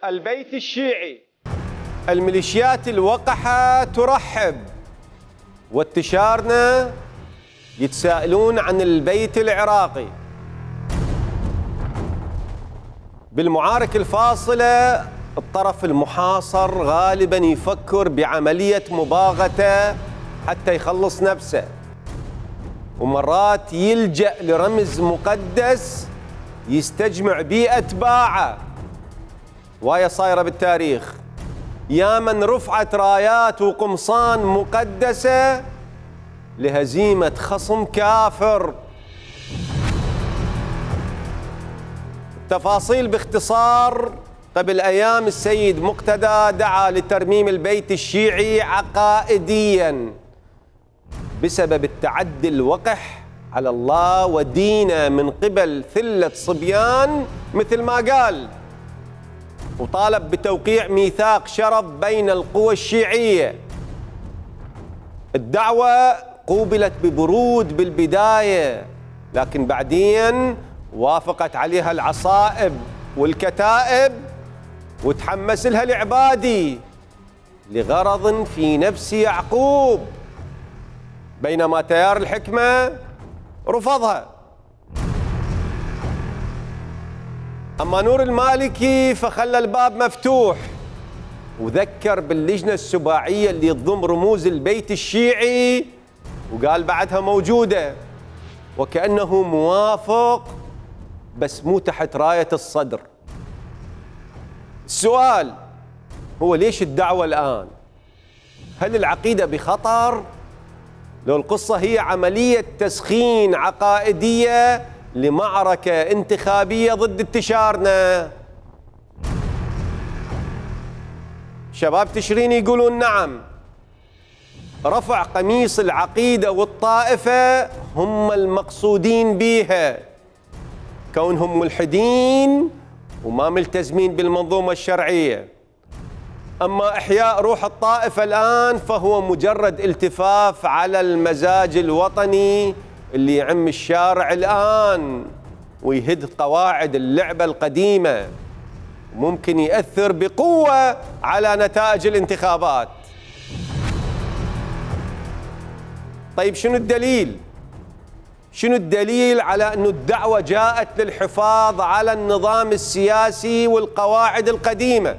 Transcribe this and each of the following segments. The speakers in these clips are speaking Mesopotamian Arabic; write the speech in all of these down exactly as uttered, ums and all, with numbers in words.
البيت الشيعي. الميليشيات الوقحة ترحب، وانتشارنا يتساءلون عن البيت العراقي. بالمعارك الفاصلة الطرف المحاصر غالباً يفكر بعملية مباغتة حتى يخلص نفسه، ومرات يلجأ لرمز مقدس يستجمع بيه أتباعه. وهي صايرة بالتاريخ، يا من رفعت رايات وقمصان مقدسة لهزيمة خصم كافر. تفاصيل باختصار: قبل أيام السيد مقتدى دعا لترميم البيت الشيعي عقائدياً بسبب التعدي الوقح على الله ودينه من قبل ثلة صبيان مثل ما قال، وطالب بتوقيع ميثاق شرف بين القوى الشيعية. الدعوة قوبلت ببرود بالبداية، لكن بعدين وافقت عليها العصائب والكتائب وتحمس لها العبادي لغرض في نفس يعقوب، بينما تيار الحكمة رفضها. أما نور المالكي فخلى الباب مفتوح وذكر باللجنة السباعية اللي تضم رموز البيت الشيعي وقال بعدها موجودة، وكأنه موافق بس مو تحت راية الصدر. السؤال هو ليش الدعوة الآن؟ هل العقيدة بخطر؟ لو القصة هي عملية تسخين عقائدية لمعركة انتخابية ضد انتشارنا؟ شباب تشرين يقولون نعم، رفع قميص العقيدة والطائفة هم المقصودين بيها، كونهم ملحدين وما ملتزمين بالمنظومة الشرعية. أما إحياء روح الطائفة الآن فهو مجرد التفاف على المزاج الوطني اللي يعم الشارع الآن ويهد قواعد اللعبة القديمة، وممكن يأثر بقوة على نتائج الانتخابات. طيب شنو الدليل؟ شنو الدليل على أن الدعوة جاءت للحفاظ على النظام السياسي والقواعد القديمة؟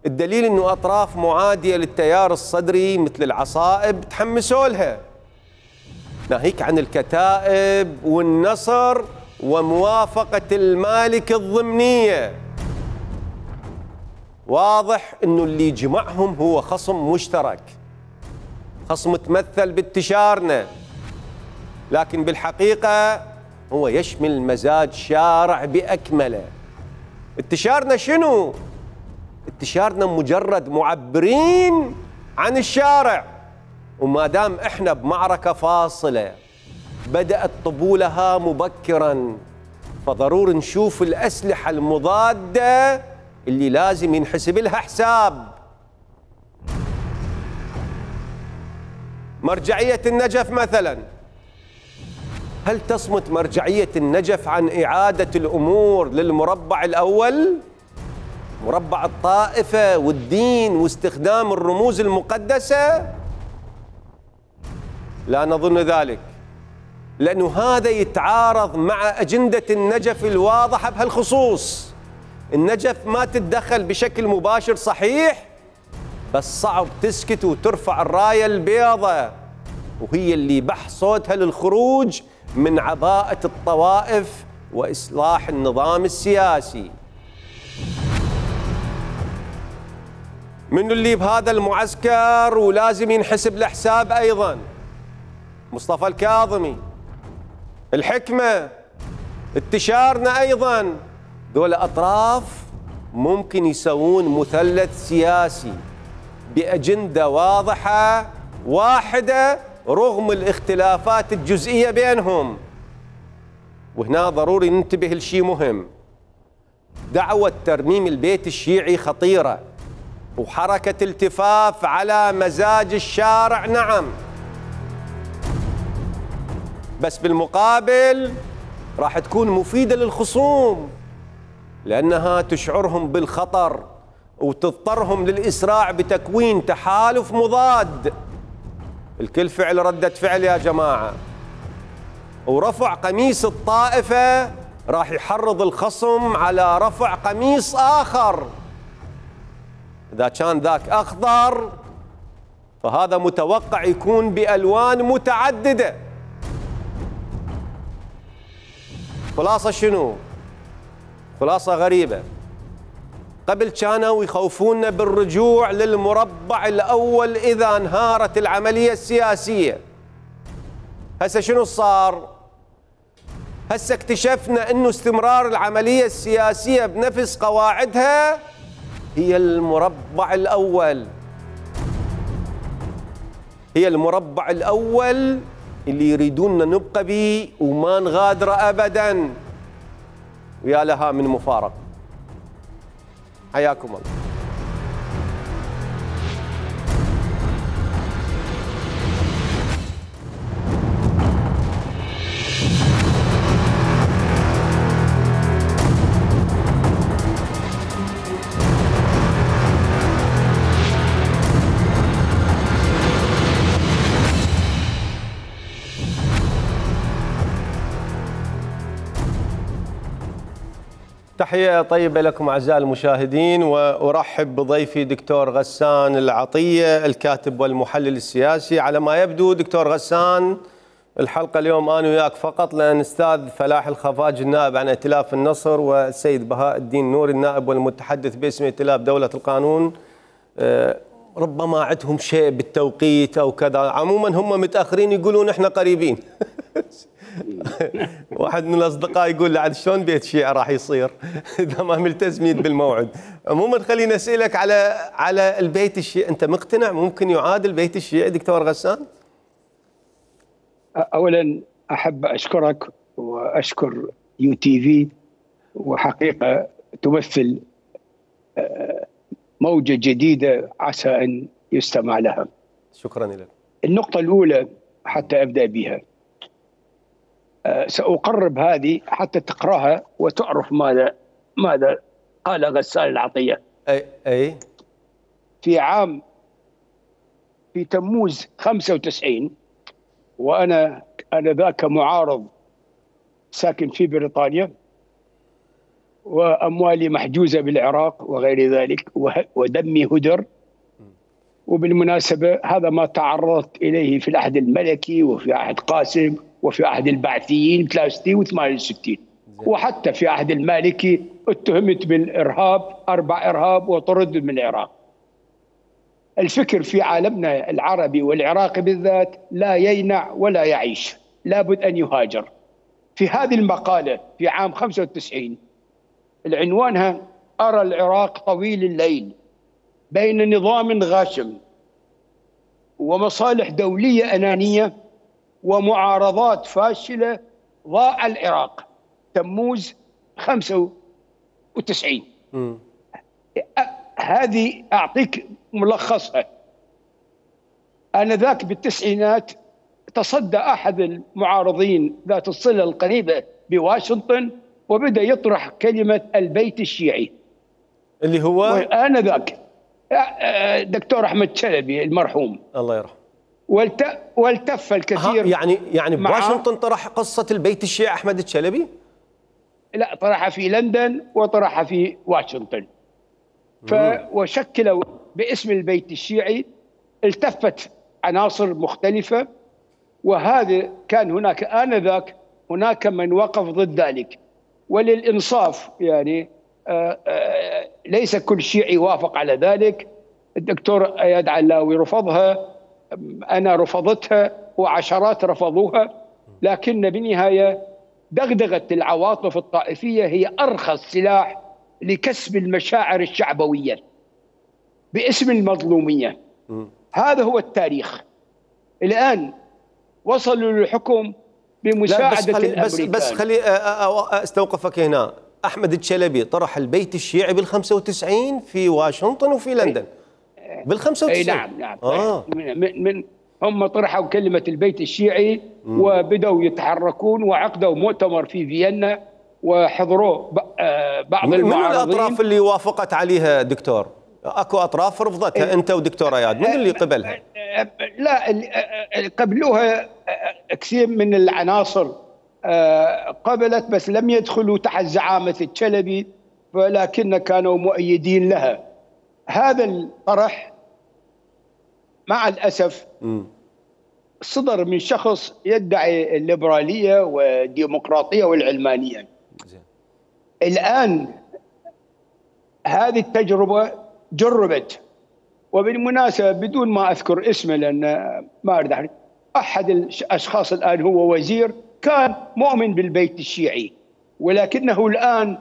الدليل أنه أطراف معادية للتيار الصدري مثل العصائب تحمسوا لها، ناهيك عن الكتائب والنصر وموافقة المالك الضمنية. واضح أنه اللي جمعهم هو خصم مشترك، خصم تمثل بانتشارنا، لكن بالحقيقة هو يشمل مزاج شارع بأكمله. انتشارنا شنو؟ انتشارنا مجرد معبرين عن الشارع، وما دام احنا بمعركة فاصلة بدأت طبولها مبكرا، فضروري نشوف الأسلحة المضادة اللي لازم ينحسب لها حساب. مرجعية النجف مثلا، هل تصمت مرجعية النجف عن إعادة الأمور للمربع الأول؟ مربع الطائفة والدين واستخدام الرموز المقدسة؟ لا نظن ذلك، لأنه هذا يتعارض مع أجندة النجف الواضحة بهالخصوص. النجف ما تتدخل بشكل مباشر صحيح، بس صعب تسكت وترفع الراية البيضاء، وهي اللي بح صوتها للخروج من عباءة الطوائف وإصلاح النظام السياسي. من اللي بهذا المعسكر ولازم ينحسب له حساب أيضا؟ مصطفى الكاظمي، الحكمة، انتشارنا أيضا. دول أطراف ممكن يسوون مثلث سياسي بأجندة واضحة واحدة رغم الاختلافات الجزئية بينهم. وهنا ضروري ننتبه لشيء مهم: دعوة ترميم البيت الشيعي خطيرة وحركة التفاف على مزاج الشارع، نعم، بس بالمقابل راح تكون مفيدة للخصوم، لأنها تشعرهم بالخطر وتضطرهم للإسراع بتكوين تحالف مضاد. الكل فعل ردة فعل يا جماعة، ورفع قميص الطائفة راح يحرض الخصم على رفع قميص آخر. إذا كان ذاك أخضر فهذا متوقع يكون بألوان متعددة. خلاصة شنو؟ خلاصة غريبة. قبل كانوا يخوفونا بالرجوع للمربع الأول إذا انهارت العملية السياسية. هسه شنو صار؟ هسه اكتشفنا أنه استمرار العملية السياسية بنفس قواعدها هي المربع الأول. هي المربع الأول اللي يريدوننا نبقى به وما نغادر أبداً. ويا لها من مفارقة. حياكم الله. تحية طيبة لكم أعزائي المشاهدين، وأرحب بضيفي دكتور غسان العطية الكاتب والمحلل السياسي. على ما يبدو دكتور غسان الحلقة اليوم أنا وياك فقط، لأن أستاذ فلاح الخفاجي النائب عن ائتلاف النصر والسيد بهاء الدين نوري النائب والمتحدث باسم ائتلاف دولة القانون ربما عندهم شيء بالتوقيت أو كذا. عموما هم متأخرين يقولون إحنا قريبين. واحد من الاصدقاء يقول لي عاد شلون بيت شيعة راح يصير اذا ما ملتزمين بالموعد. عموما خليني اسالك على على البيت الشيعي، انت مقتنع ممكن يعاد البيت الشيعي دكتور غسان؟ اولا احب اشكرك واشكر يو تي في، وحقيقه تمثل موجه جديده عسى ان يستمع لها. شكرا لك. النقطه الاولى حتى ابدا بها، سأقرب هذه حتى تقرأها وتعرف ماذا ماذا قال غسان العطية. أي أي في عام في تموز خمسة وتسعين، وأنا أنا ذاك معارض ساكن في بريطانيا وأموالي محجوزة بالعراق وغير ذلك ودمي هدر. وبالمناسبة هذا ما تعرضت إليه في العهد الملكي وفي عهد قاسم وفي عهد البعثيين ثلاثة وستين وثمانية وستين، وحتى في عهد المالكي اتهمت بالإرهاب، أربع إرهاب وطرد من العراق. الفكر في عالمنا العربي والعراقي بالذات لا يينع ولا يعيش، لابد أن يهاجر. في هذه المقالة في عام خمسة وتسعين العنوانها أرى العراق طويل الليل بين نظام غاشم ومصالح دولية أنانية ومعارضات فاشلة، ضاع العراق. تموز خمسة وتسعين. م. هذه أعطيك ملخصها. آنذاك بالتسعينات تصدى أحد المعارضين ذات الصلة القريبة بواشنطن وبدأ يطرح كلمة البيت الشيعي اللي هو آنذاك دكتور أحمد شلبي المرحوم الله يرحمه. والتف الكثير. يعني يعني بواشنطن طرح قصة البيت الشيعي أحمد الشلبي؟ لا، طرحها في لندن وطرحها في واشنطن. ف وشكلوا باسم البيت الشيعي، التفت عناصر مختلفة، وهذا كان هناك آنذاك هناك من وقف ضد ذلك. وللإنصاف يعني آآ آآ ليس كل شيعي وافق على ذلك. الدكتور اياد علاوي رفضها، أنا رفضتها، وعشرات رفضوها، لكن بالنهاية دغدغة العواطف الطائفية هي أرخص سلاح لكسب المشاعر الشعبوية باسم المظلومية. م. هذا هو التاريخ. الآن وصلوا للحكم بمساعدة بس خلي الأمريكان. بس, بس خلي استوقفك هنا. أحمد الشلبي طرح البيت الشيعي بالخمسة وتسعين في واشنطن وفي لندن. بالخمسة وتسعين. أي نعم نعم. آه. من, من هم طرحوا كلمة البيت الشيعي م. وبدأوا يتحركون وعقدوا مؤتمر في فيينا وحضروه بعض من المعارضين. من الأطراف اللي وافقت عليها دكتور؟ أكو أطراف رفضتها، أنت ودكتور اياد، من اللي قبلها؟ لا، قبلوها كثير من العناصر قبلت، بس لم يدخلوا تحت زعامة الشلبي، ولكن كانوا مؤيدين لها. هذا الطرح مع الأسف صدر من شخص يدعي الليبرالية والديمقراطية والعلمانية. الآن هذه التجربة جربت، وبالمناسبة بدون ما أذكر اسمه لأن ما أريد، أحد الأشخاص الآن هو وزير كان مؤمن بالبيت الشيعي، ولكنه الآن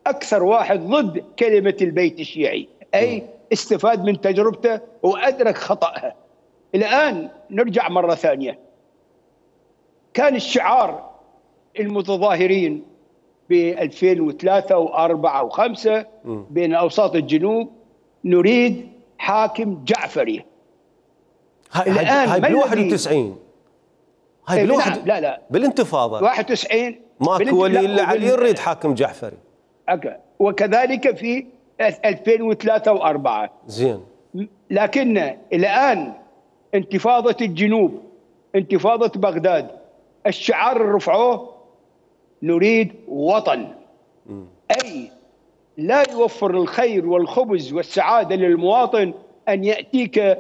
أكثر واحد ضد كلمة البيت الشيعي، أي استفاد من تجربته وأدرك خطأها. الآن نرجع مرة ثانية، كان الشعار المتظاهرين ب ألفين وثلاثة وأربعة وخمسة بين أوساط الجنوب نريد حاكم جعفري. هاي الآن هاي بال واحد وتسعين، هاي بال واحد لا لا بالانتفاضة واحد وتسعين ماكو ولي إلا علي يريد حاكم جعفري. أوكي. وكذلك في ألفين وثلاثة وأربعة. زين. لكن الآن انتفاضة الجنوب، انتفاضة بغداد، الشعار اللي رفعوه نريد وطن. م. أي لا يوفر الخير والخبز والسعادة للمواطن أن يأتيك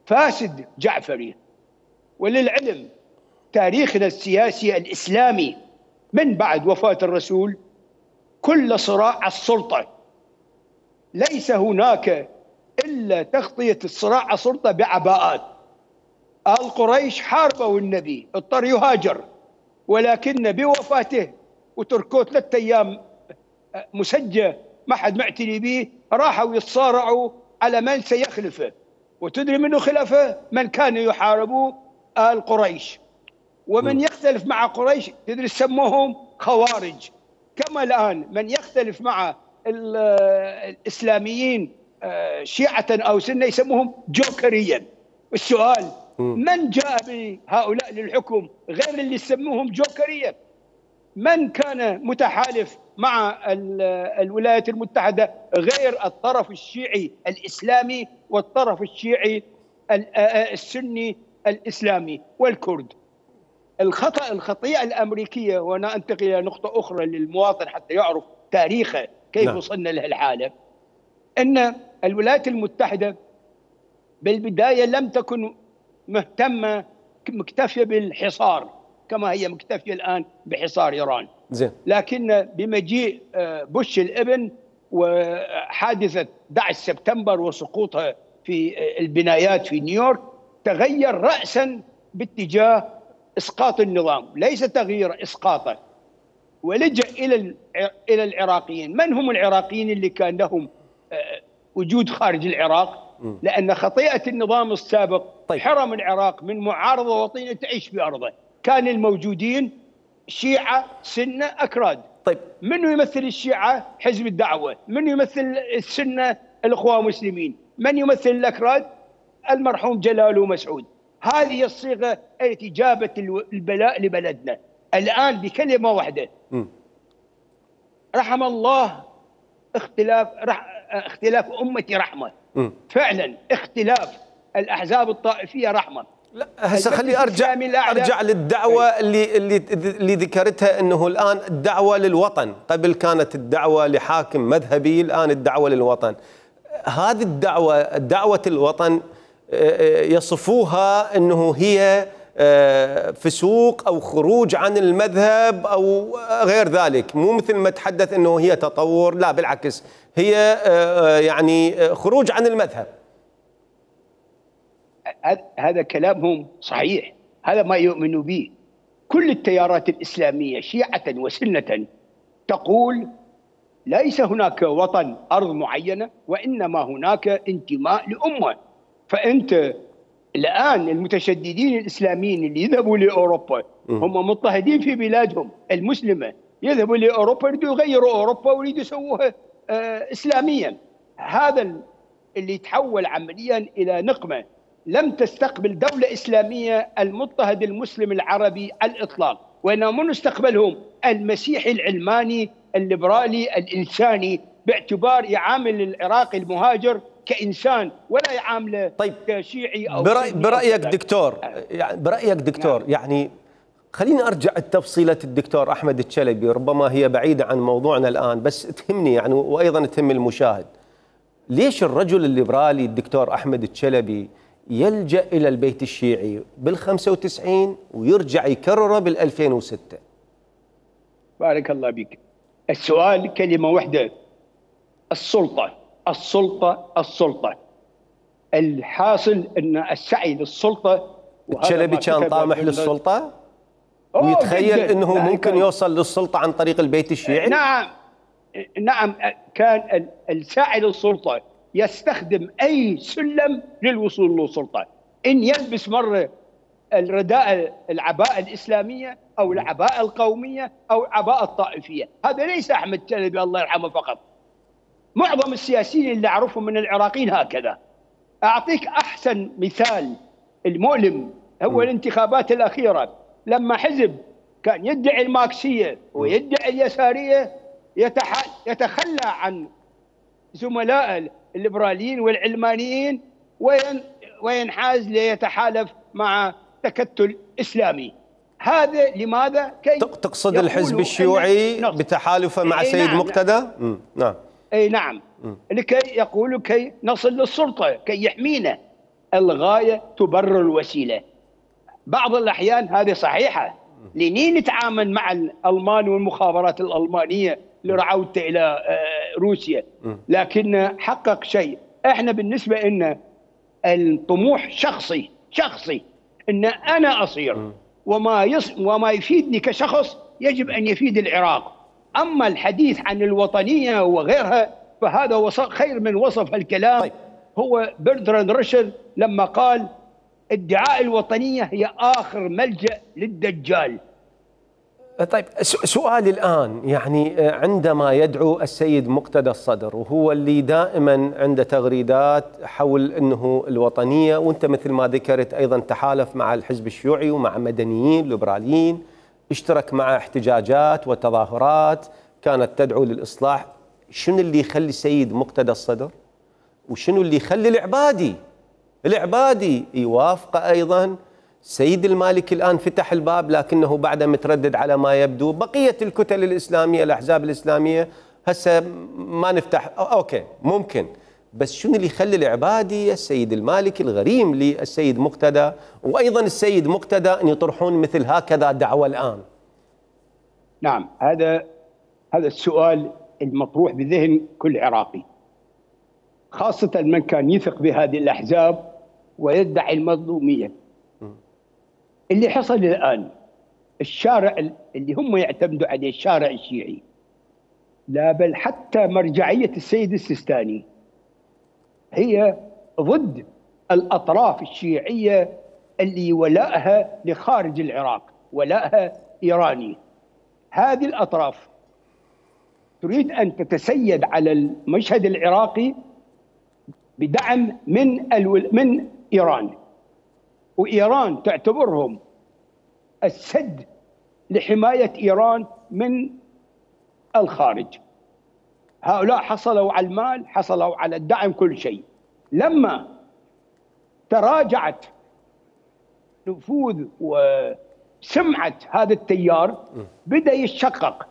فاسد جعفري. وللعلم تاريخنا السياسي الإسلامي من بعد وفاة الرسول كل صراع السلطة ليس هناك إلا تغطية الصراع على السلطة بعباءات. آل قريش حاربوا النبي، اضطر يهاجر، ولكن بوفاته وتركوه ثلاثة أيام مسجى ما حد معتني به، راحوا يتصارعوا على من سيخلفه. وتدري منه خلفه؟ من كانوا يحاربوا آل قريش. ومن يختلف مع قريش تدري سموهم خوارج. كما الآن من يختلف مع الإسلاميين شيعة أو سنة يسموهم جوكريا. السؤال من جاء بهؤلاء للحكم غير اللي يسموهم جوكريا؟ من كان متحالف مع الولايات المتحدة غير الطرف الشيعي الإسلامي والطرف الشيعي السني الإسلامي والكرد؟ الخطأ الخطيئة الأمريكية، وأنا أنتقل إلى نقطة أخرى للمواطن حتى يعرف تاريخه كيف نعم. وصلنا له الحالة، أن الولايات المتحدة بالبداية لم تكن مهتمة مكتفية بالحصار كما هي مكتفية الآن بحصار إيران. زين. لكن بمجيء بوش الابن وحادثة أحد عشر سبتمبر وسقوطها في البنايات في نيويورك تغير رأسا باتجاه إسقاط النظام، ليس تغيير، إسقاطه. ولجأ إلى إلى العراقيين. من هم العراقيين اللي كان لهم وجود خارج العراق؟ لأن خطيئة النظام السابق طيب. حرم العراق من معارضة وطنية تعيش في أرضه. كان الموجودين شيعة سنة أكراد. طيب. من يمثل الشيعة؟ حزب الدعوة. من يمثل السنة؟ الإخوان المسلمين. من يمثل الأكراد؟ المرحوم جلال ومسعود. هذه الصيغة التي جابت البلاء لبلدنا. الآن بكلمة واحدة م. رحم الله اختلاف رح اختلاف أمتي رحمة. م. فعلا اختلاف الأحزاب الطائفية رحمة. لا هسه خلي ارجع ارجع للدعوه اللي اللي اللي ذكرتها، انه الان الدعوه للوطن، قبل كانت الدعوه لحاكم مذهبي، الان الدعوه للوطن. هذه الدعوه دعوه الوطن يصفوها انه هي فسوق او خروج عن المذهب او غير ذلك، مو مثل ما تحدث انه هي تطور، لا بالعكس هي يعني خروج عن المذهب. هذا كلامهم صحيح، هذا ما يؤمن به كل التيارات الإسلامية شيعة وسنة، تقول ليس هناك وطن أرض معينة، وإنما هناك انتماء لأمة. فأنت الآن المتشددين الإسلاميين اللي يذهبوا لأوروبا هم مضطهدين في بلادهم المسلمة، يذهبوا لأوروبا يريدوا يغيروا أوروبا ويريدوا يسووها آه إسلاميا. هذا اللي يتحول عمليا إلى نقمة. لم تستقبل دولة إسلامية المضطهد المسلم العربي على الإطلاق، وإنما من مستقبلهم المسيحي العلماني الليبرالي الإنساني، باعتبار يعامل العراقي المهاجر كإنسان ولا يعامله طيب كشيعي أو برأي برأيك أو دكتور، يعني برأيك دكتور نعم. يعني خليني أرجع التفصيلة الدكتور أحمد الشلبي، ربما هي بعيدة عن موضوعنا الآن بس تهمني يعني وأيضا تهم المشاهد. ليش الرجل الليبرالي الدكتور أحمد الشلبي يلجأ إلى البيت الشيعي بالخمسة وتسعين ويرجع يكرره بالألفين وستة؟ بارك الله بك. السؤال كلمة واحدة: السلطة السلطة السلطة. الحاصل أن السعي للسلطة، الشلبي كان طامح للسلطة ويتخيل أنه ممكن يوصل للسلطة عن طريق البيت الشيعي؟ نعم نعم، كان الساعي للسلطة يستخدم أي سلم للوصول للسلطة، إن يلبس مرة الرداء العباءة الإسلامية أو العباءة القومية أو العباءة الطائفية. هذا ليس أحمد الشلبي الله يرحمه فقط، معظم السياسيين اللي أعرفهم من العراقيين هكذا. أعطيك أحسن مثال المؤلم هو الانتخابات الأخيرة، لما حزب كان يدعي الماركسية ويدعي اليسارية يتخلى عن زملاء الليبراليين والعلمانيين وينحاز ليتحالف مع تكتل إسلامي. هذا لماذا؟ كي تقصد الحزب الشيوعي بتحالفه مع أي سيد نعم مقتدى؟ نعم. نعم أي نعم م. لكي يقولوا كي نصل للسلطة، كي يحمينا. الغاية تبرر الوسيلة. بعض الأحيان هذه صحيحة، لنين نتعامل مع الألمان والمخابرات الألمانية لرعوته إلى روسيا، لكن حقق شيء. احنا بالنسبة لنا الطموح شخصي شخصي، ان انا اصير وما يص وما يفيدني كشخص يجب ان يفيد العراق. اما الحديث عن الوطنية وغيرها فهذا وصف خير من وصف الكلام. طيب. هو برتراند راشل لما قال ادعاء الوطنية هي آخر ملجأ للدجال. طيب سؤالي الآن، يعني عندما يدعو السيد مقتدى الصدر وهو اللي دائما عنده تغريدات حول أنه الوطنية، وانت مثل ما ذكرت أيضا تحالف مع الحزب الشيوعي ومع مدنيين ليبراليين، اشترك مع احتجاجات وتظاهرات كانت تدعو للإصلاح، شنو اللي يخلي السيد مقتدى الصدر وشنو اللي يخلي العبادي العبادي يوافق أيضا؟ سيد المالكي الآن فتح الباب لكنه بعد متردد على ما يبدو. بقية الكتل الإسلامية الأحزاب الإسلامية هسه ما نفتح، أوكي ممكن، بس شنو اللي يخلي العبادي السيد المالكي الغريم للسيد مقتدى وأيضا السيد مقتدى أن يطرحون مثل هكذا دعوة الآن؟ نعم، هذا هذا السؤال المطروح بذهن كل عراقي، خاصة من كان يثق بهذه الأحزاب ويدعي المظلومية. اللي حصل الآن الشارع اللي هم يعتمدوا عليه الشارع الشيعي، لا بل حتى مرجعية السيد السيستاني هي ضد الأطراف الشيعية اللي ولاءها لخارج العراق، ولاءها إيراني. هذه الأطراف تريد أن تتسيد على المشهد العراقي بدعم من الول... من إيران، وإيران تعتبرهم السد لحماية إيران من الخارج. هؤلاء حصلوا على المال، حصلوا على الدعم، كل شيء. لما تراجعت نفوذ وسمعة هذا التيار بدأ يتشقق.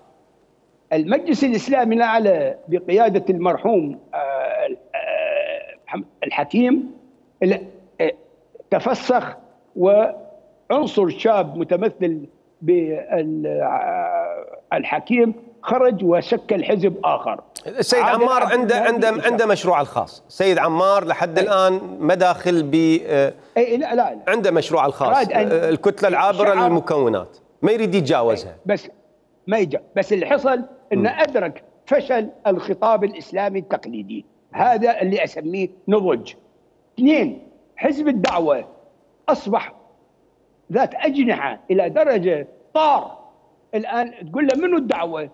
المجلس الإسلامي الأعلى بقيادة المرحوم الحكيم تفسخ، وعنصر شاب متمثل بالحكيم خرج وشكل حزب آخر. السيد عمار عنده عنده عنده مشروع الخاص. سيد عمار لحد الآن ما داخل ب اي لا لا عنده مشروع الخاص، الكتلة العابرة للمكونات ما يريد يتجاوزها، بس ما يجا بس اللي حصل انه ادرك فشل الخطاب الإسلامي التقليدي. هذا اللي اسميه نضج. اثنين، حزب الدعوة أصبح ذات أجنحة إلى درجة طار. الآن تقول له منو الدعوة؟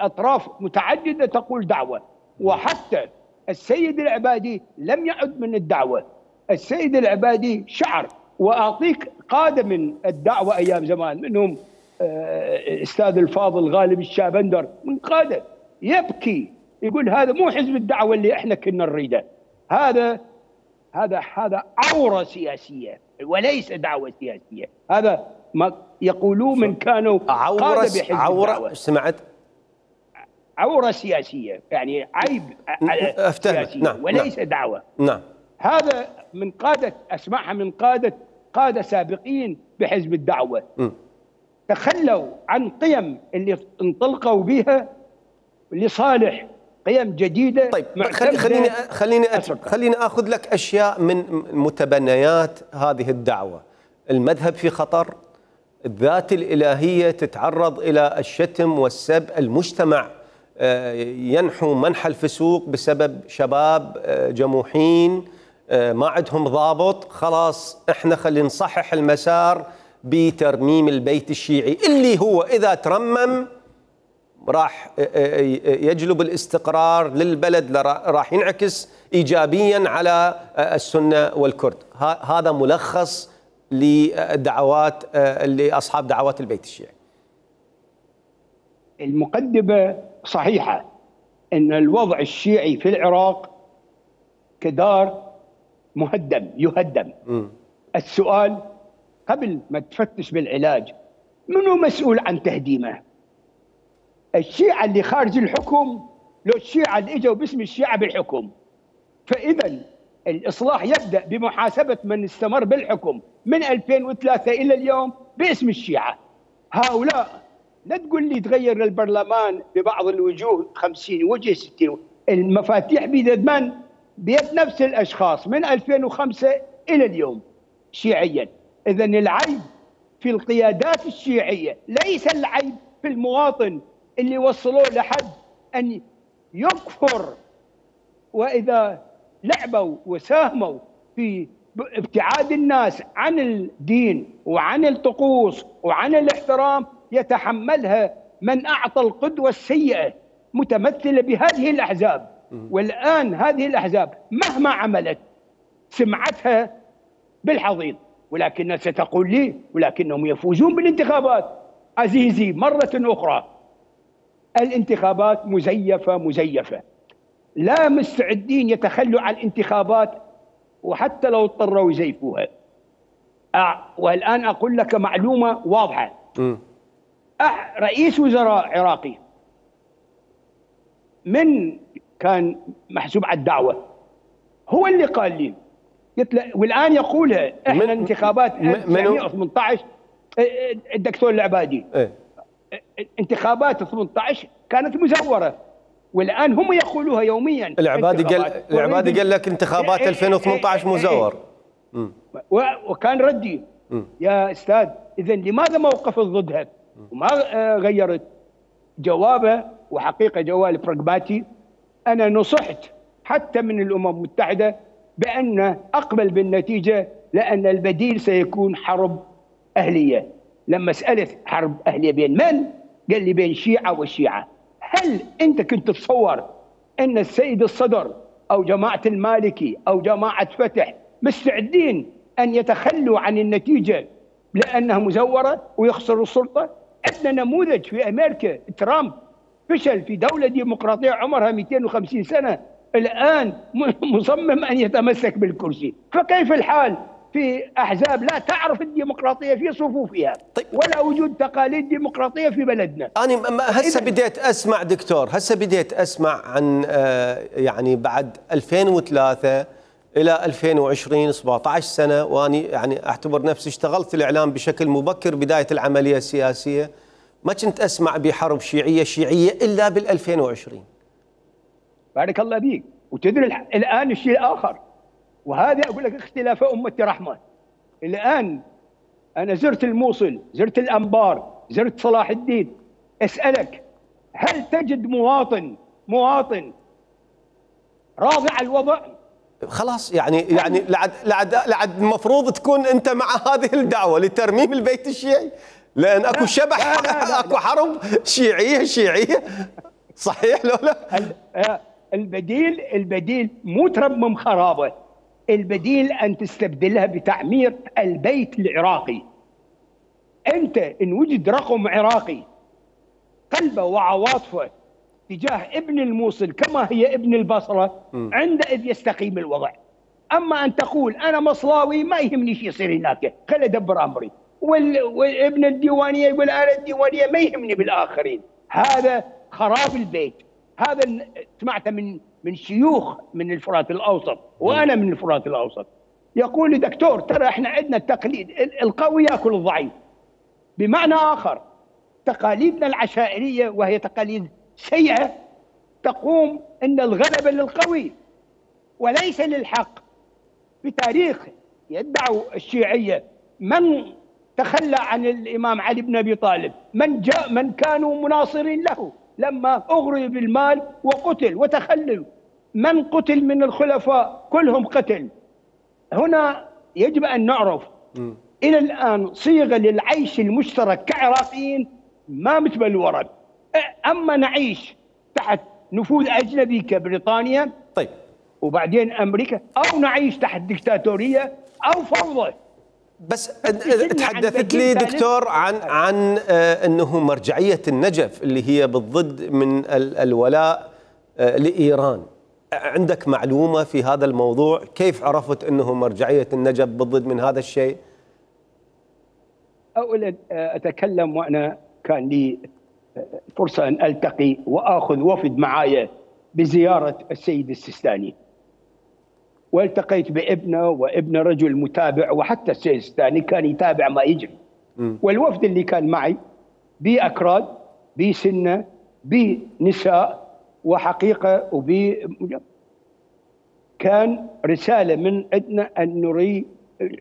أطراف متعددة تقول دعوة، وحتى السيد العبادي لم يعد من الدعوة. السيد العبادي شعر، وأعطيك قادة من الدعوة أيام زمان، منهم الاستاذ الفاضل غالب الشابندر من قاده يبكي يقول هذا مو حزب الدعوه اللي احنا كنا نريده، هذا هذا هذا عوره سياسيه وليس دعوه سياسيه، هذا ما يقولوه من كانوا عوره عوره سمعت عوره سياسيه، يعني عيب سياسي نعم. وليس نعم. دعوه. نعم. هذا من قاده اسمعها من قاده قاده سابقين بحزب الدعوه م. تخلوا عن قيم اللي انطلقوا بها لصالح قيم جديده. طيب خليني خليني خليني اخذ لك اشياء من متبنيات هذه الدعوه. المذهب في خطر، الذات الالهيه تتعرض الى الشتم والسب، المجتمع ينحو منحى الفسوق بسبب شباب جموحين ما عندهم ضابط. خلاص احنا خلينا نصحح المسار بترميم البيت الشيعي اللي هو اذا ترمم راح يجلب الاستقرار للبلد، راح ينعكس ايجابيا على السنه والكرد. هذا ملخص لدعوات لاصحاب دعوات البيت الشيعي. المقدمه صحيحه ان الوضع الشيعي في العراق كدار مهدم يهدم. م. السؤال قبل ما تفتش بالعلاج، منو مسؤول عن تهديمه؟ الشيعة اللي خارج الحكم لو الشيعة اللي اجوا باسم الشيعة بالحكم؟ فإذا الإصلاح يبدأ بمحاسبة من استمر بالحكم من ألفين وثلاثة إلى اليوم باسم الشيعة. هؤلاء لا تقول لي تغير البرلمان ببعض الوجوه خمسين وجه ستين، المفاتيح بيد من؟ بيد نفس الأشخاص من ألفين وخمسة إلى اليوم شيعيا. إذا العيب في القيادات الشيعية ليس العيب في المواطن اللي وصلوه لحد أن يكفر، وإذا لعبوا وساهموا في ابتعاد الناس عن الدين وعن الطقوس وعن الاحترام يتحملها من أعطى القدوة السيئة متمثلة بهذه الأحزاب. والآن هذه الأحزاب مهما عملت سمعتها بالحضيض، ولكن ستقول لي ولكنهم يفوزون بالانتخابات. عزيزي مرة أخرى، الانتخابات مزيفة مزيفة، لا مستعدين يتخلوا عن الانتخابات وحتى لو اضطروا يزيفوها. والآن أقول لك معلومة واضحة. م. رئيس وزراء عراقي من كان محسوب على الدعوة هو اللي قال لي، والآن يقولها احنا انتخابات ألف وتسعمئة وثمانية عشر الدكتور العبادي ايه؟ انتخابات ثمانية عشر كانت مزورة، والآن هم يقولوها يوميا. العبادي قال العبادي قال لك انتخابات ألفين وثمانية عشر مزور. وكان ردي م. يا استاذ اذا لماذا ما وقفت ضدها وما غيرت جوابه؟ وحقيقه جواب براغماتي. انا نصحت حتى من الامم المتحده بان اقبل بالنتيجه، لان البديل سيكون حرب اهليه. لما سالت حرب اهليه بين من؟ قال لي بين شيعه وشيعه. هل انت كنت تتصور ان السيد الصدر او جماعه المالكي او جماعه فتح مستعدين ان يتخلوا عن النتيجه لانها مزوره ويخسروا السلطه؟ عندنا نموذج في امريكا، ترامب فشل في دوله ديمقراطيه عمرها مئتين وخمسين سنه، الان مصمم ان يتمسك بالكرسي. فكيف الحال في احزاب لا تعرف الديمقراطيه في صفوفها؟ طيب. ولا وجود تقاليد ديمقراطيه في بلدنا. انا هسه بديت اسمع دكتور، هسه بديت اسمع عن يعني بعد ألفين وثلاثة الى ألفين وعشرين سبعة عشر سنه، واني يعني اعتبر نفسي اشتغلت في الاعلام بشكل مبكر بدايه العمليه السياسيه، ما كنت اسمع بحرب شيعيه شيعيه الا بال ألفين وعشرين. بارك الله فيك. وتدري الان الشيء الاخر، وهذا اقول لك اختلاف امه رحمه. الان انا زرت الموصل، زرت الانبار، زرت صلاح الدين، اسالك هل تجد مواطن مواطن راضي على الوضع؟ خلاص يعني يعني لعد لعد لعد المفروض تكون انت مع هذه الدعوه لترميم البيت الشيعي، لان اكو لا شبح، لا لا لا اكو حرب شيعيه شيعيه. صحيح لو لا؟ البديل البديل مو ترمم خرابه، البديل ان تستبدلها بتعمير البيت العراقي. انت ان وجد رقم عراقي قلبه وعواطفه تجاه ابن الموصل كما هي ابن البصره، عندئذ يستقيم الوضع. اما ان تقول انا مصلاوي ما يهمني شو يصير هناك، خل ادبر امري، والابن الديوانيه يقول انا الديوانيه ما يهمني بالاخرين، هذا خراب البيت. هذا سمعته من من شيوخ من الفرات الاوسط، وانا من الفرات الاوسط، يقول لي دكتور ترى احنا عندنا التقليد القوي ياكل الضعيف. بمعنى اخر تقاليدنا العشائريه وهي تقاليد سيئه تقوم ان الغلبه للقوي وليس للحق. في تاريخ يدعو الشيعيه من تخلى عن الامام علي بن ابي طالب، من جاء من كانوا مناصرين له لما اغري بالمال وقتل وتخلل، من قتل من الخلفاء كلهم قتل. هنا يجب ان نعرف م. الى الان صيغه للعيش المشترك كعراقيين ما مثل الورد. اما نعيش تحت نفوذ اجنبي كبريطانيا طيب وبعدين امريكا، او نعيش تحت دكتاتوريه او فوضى. بس تحدثت لي دكتور عن عن انه مرجعيه النجف اللي هي بالضد من الولاء لايران. عندك معلومه في هذا الموضوع؟ كيف عرفت انه مرجعيه النجف بالضد من هذا الشيء؟ اولا اتكلم وانا كان لي فرصه ان التقي واخذ وفد معايا بزياره السيد السيستاني، والتقيت بابنه وابن رجل متابع، وحتى السيد السيستاني كان يتابع ما يجري. والوفد اللي كان معي بأكراد بسنة بنساء وحقيقة وب كان رسالة من عندنا أن نري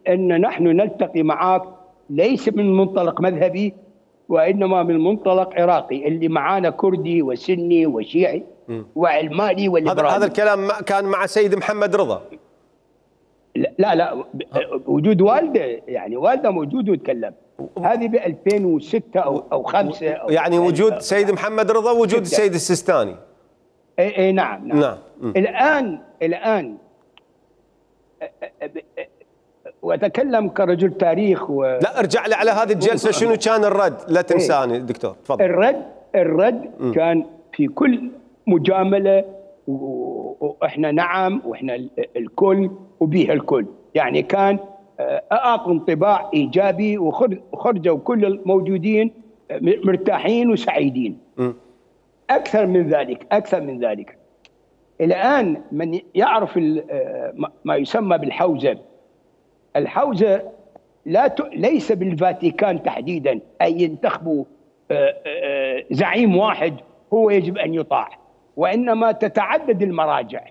أن نحن نلتقي معك ليس من منطلق مذهبي وإنما من منطلق عراقي، اللي معانا كردي وسني وشيعي وعلماني وليبرالي. هذا هذا الكلام كان مع سيد محمد رضا؟ لا لا وجود والده، يعني والده موجود ويتكلم. هذه ب ألفين وستة او او خمسة أو يعني وجود سيد محمد رضا ووجود السيد السيستاني. اي اي نعم نعم, نعم. الان الان واتكلم كرجل تاريخ و... لا ارجع لي على هذه الجلسه، شنو كان الرد؟ لا تنساني دكتور تفضل. الرد الرد م. كان في كل مجامله واحنا نعم واحنا الكل وبيها الكل، يعني كان اعطوا انطباع ايجابي وخرجوا كل الموجودين مرتاحين وسعيدين. م. اكثر من ذلك اكثر من ذلك الان من يعرف ما يسمى بالحوزه، الحوزه لا ت... ليس بالفاتيكان تحديدا اي ينتخبوا زعيم واحد هو يجب ان يطاع، وانما تتعدد المراجع.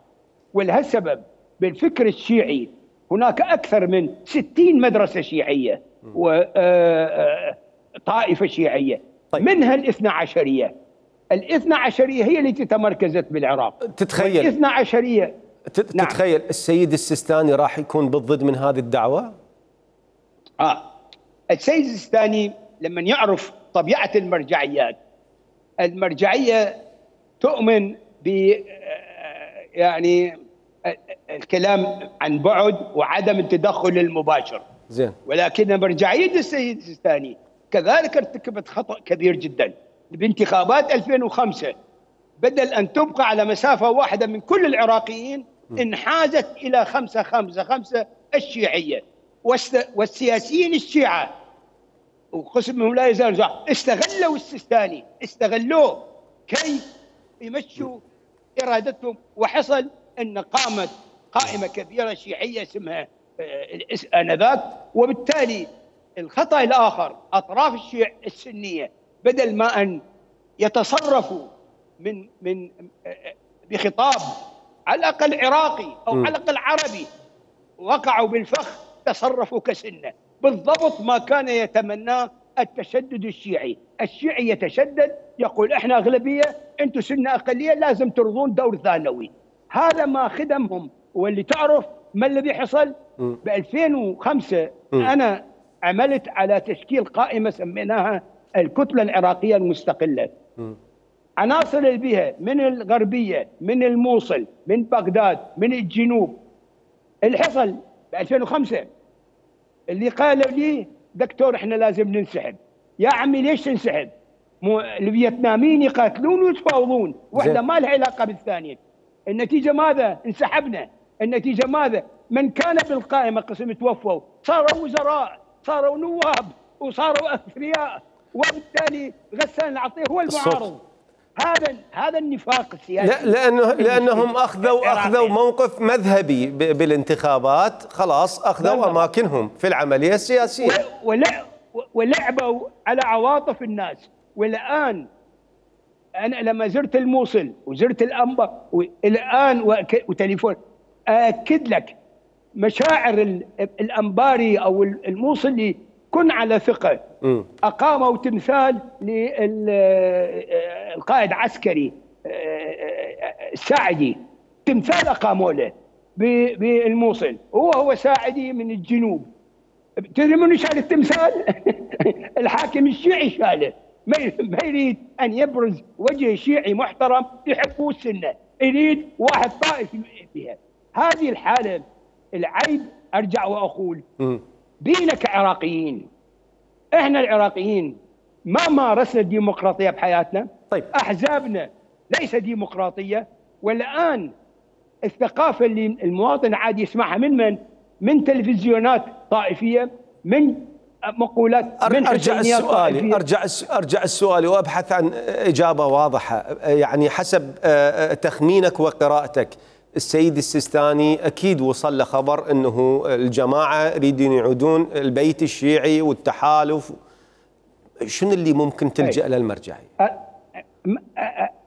ولهالسبب بالفكر الشيعي هناك اكثر من ستين مدرسه شيعيه وطائفه شيعيه، منها الاثنا عشريه. الاثنا عشريه هي التي تمركزت بالعراق. تتخيل الاثنا عشريه تتخيل نعم. السيد السيستاني راح يكون بالضد من هذه الدعوه؟ اه السيد السيستاني لما يعرف طبيعه المرجعيات، المرجعيه تؤمن ب يعني الكلام عن بعد وعدم التدخل المباشر. زين. ولكن مرجعيه السيد السيستاني كذلك ارتكبت خطأ كبير جدا بانتخابات ألفين وخمسة، بدل ان تبقى على مسافه واحده من كل العراقيين انحازت الى خمسة خمسة خمسة الشيعيه، والسياسيين الشيعه وقسم منهم لا يزال استغلوا السيستاني، استغلوه كي يمشوا ارادتهم، وحصل ان قامت قائمه كبيره شيعيه اسمها انذاك. وبالتالي الخطا الاخر اطراف الشيع السنيه بدل ما ان يتصرفوا من من بخطاب على الاقل عراقي او على الاقل عربي، وقعوا بالفخ تصرفوا كسنه، بالضبط ما كان يتمناه التشدد الشيعي. الشيعي يتشدد يقول احنا اغلبيه انتم سنه اقليه لازم ترضون دور ثانوي. هذا ما خدمهم. واللي تعرف ما الذي حصل ب ألفين وخمسة؟ انا عملت على تشكيل قائمه سميناها الكتله العراقيه المستقله. عناصر اللي بها من الغربيه، من الموصل، من بغداد، من الجنوب. اللي حصل ب ألفين وخمسة اللي قالوا لي دكتور احنا لازم ننسحب، يا عمي ليش تنسحب؟ مو الفيتناميين يقاتلون ويتفاوضون، واحده ما لها علاقه بالثانيه. النتيجه ماذا؟ انسحبنا. النتيجه ماذا؟ من كان بالقائمه قسم توفوا، صاروا وزراء، صاروا نواب، وصاروا اثرياء، وبالتالي غسان العطيه هو المعارض. هذا هذا النفاق السياسي. لا لانه لانهم اخذوا اخذوا موقف مذهبي بالانتخابات، خلاص اخذوا اماكنهم في العمليه السياسيه ولعبوا على عواطف الناس. والان انا لما زرت الموصل وزرت الانبا والان وتليفون اكد لك مشاعر الانباري او الموصلي كن على ثقه. م. اقاموا تمثال للقائد عسكري ساعدي، تمثال اقاموا له بالموصل، هو هو ساعدي من الجنوب. تدري من شال التمثال؟ الحاكم الشيعي شاله. ما يريد ان يبرز وجه شيعي محترم يحبوه السنه، يريد واحد طائفي فيها. هذه الحاله العيب. ارجع واقول م. بينا كعراقيين، احنا العراقيين ما مارسنا الديمقراطيه بحياتنا. طيب. احزابنا ليس ديمقراطيه. والان الثقافه اللي المواطن عادي يسمعها من من؟ من تلفزيونات طائفيه، من مقولات، من ارجع السؤال ارجع ارجع السؤال وابحث عن اجابه واضحه. يعني حسب تخمينك وقراءتك، السيد السيستاني اكيد وصل له خبر انه الجماعه يريدون يعودون البيت الشيعي والتحالف. شنو اللي ممكن تلجا له المرجعيه؟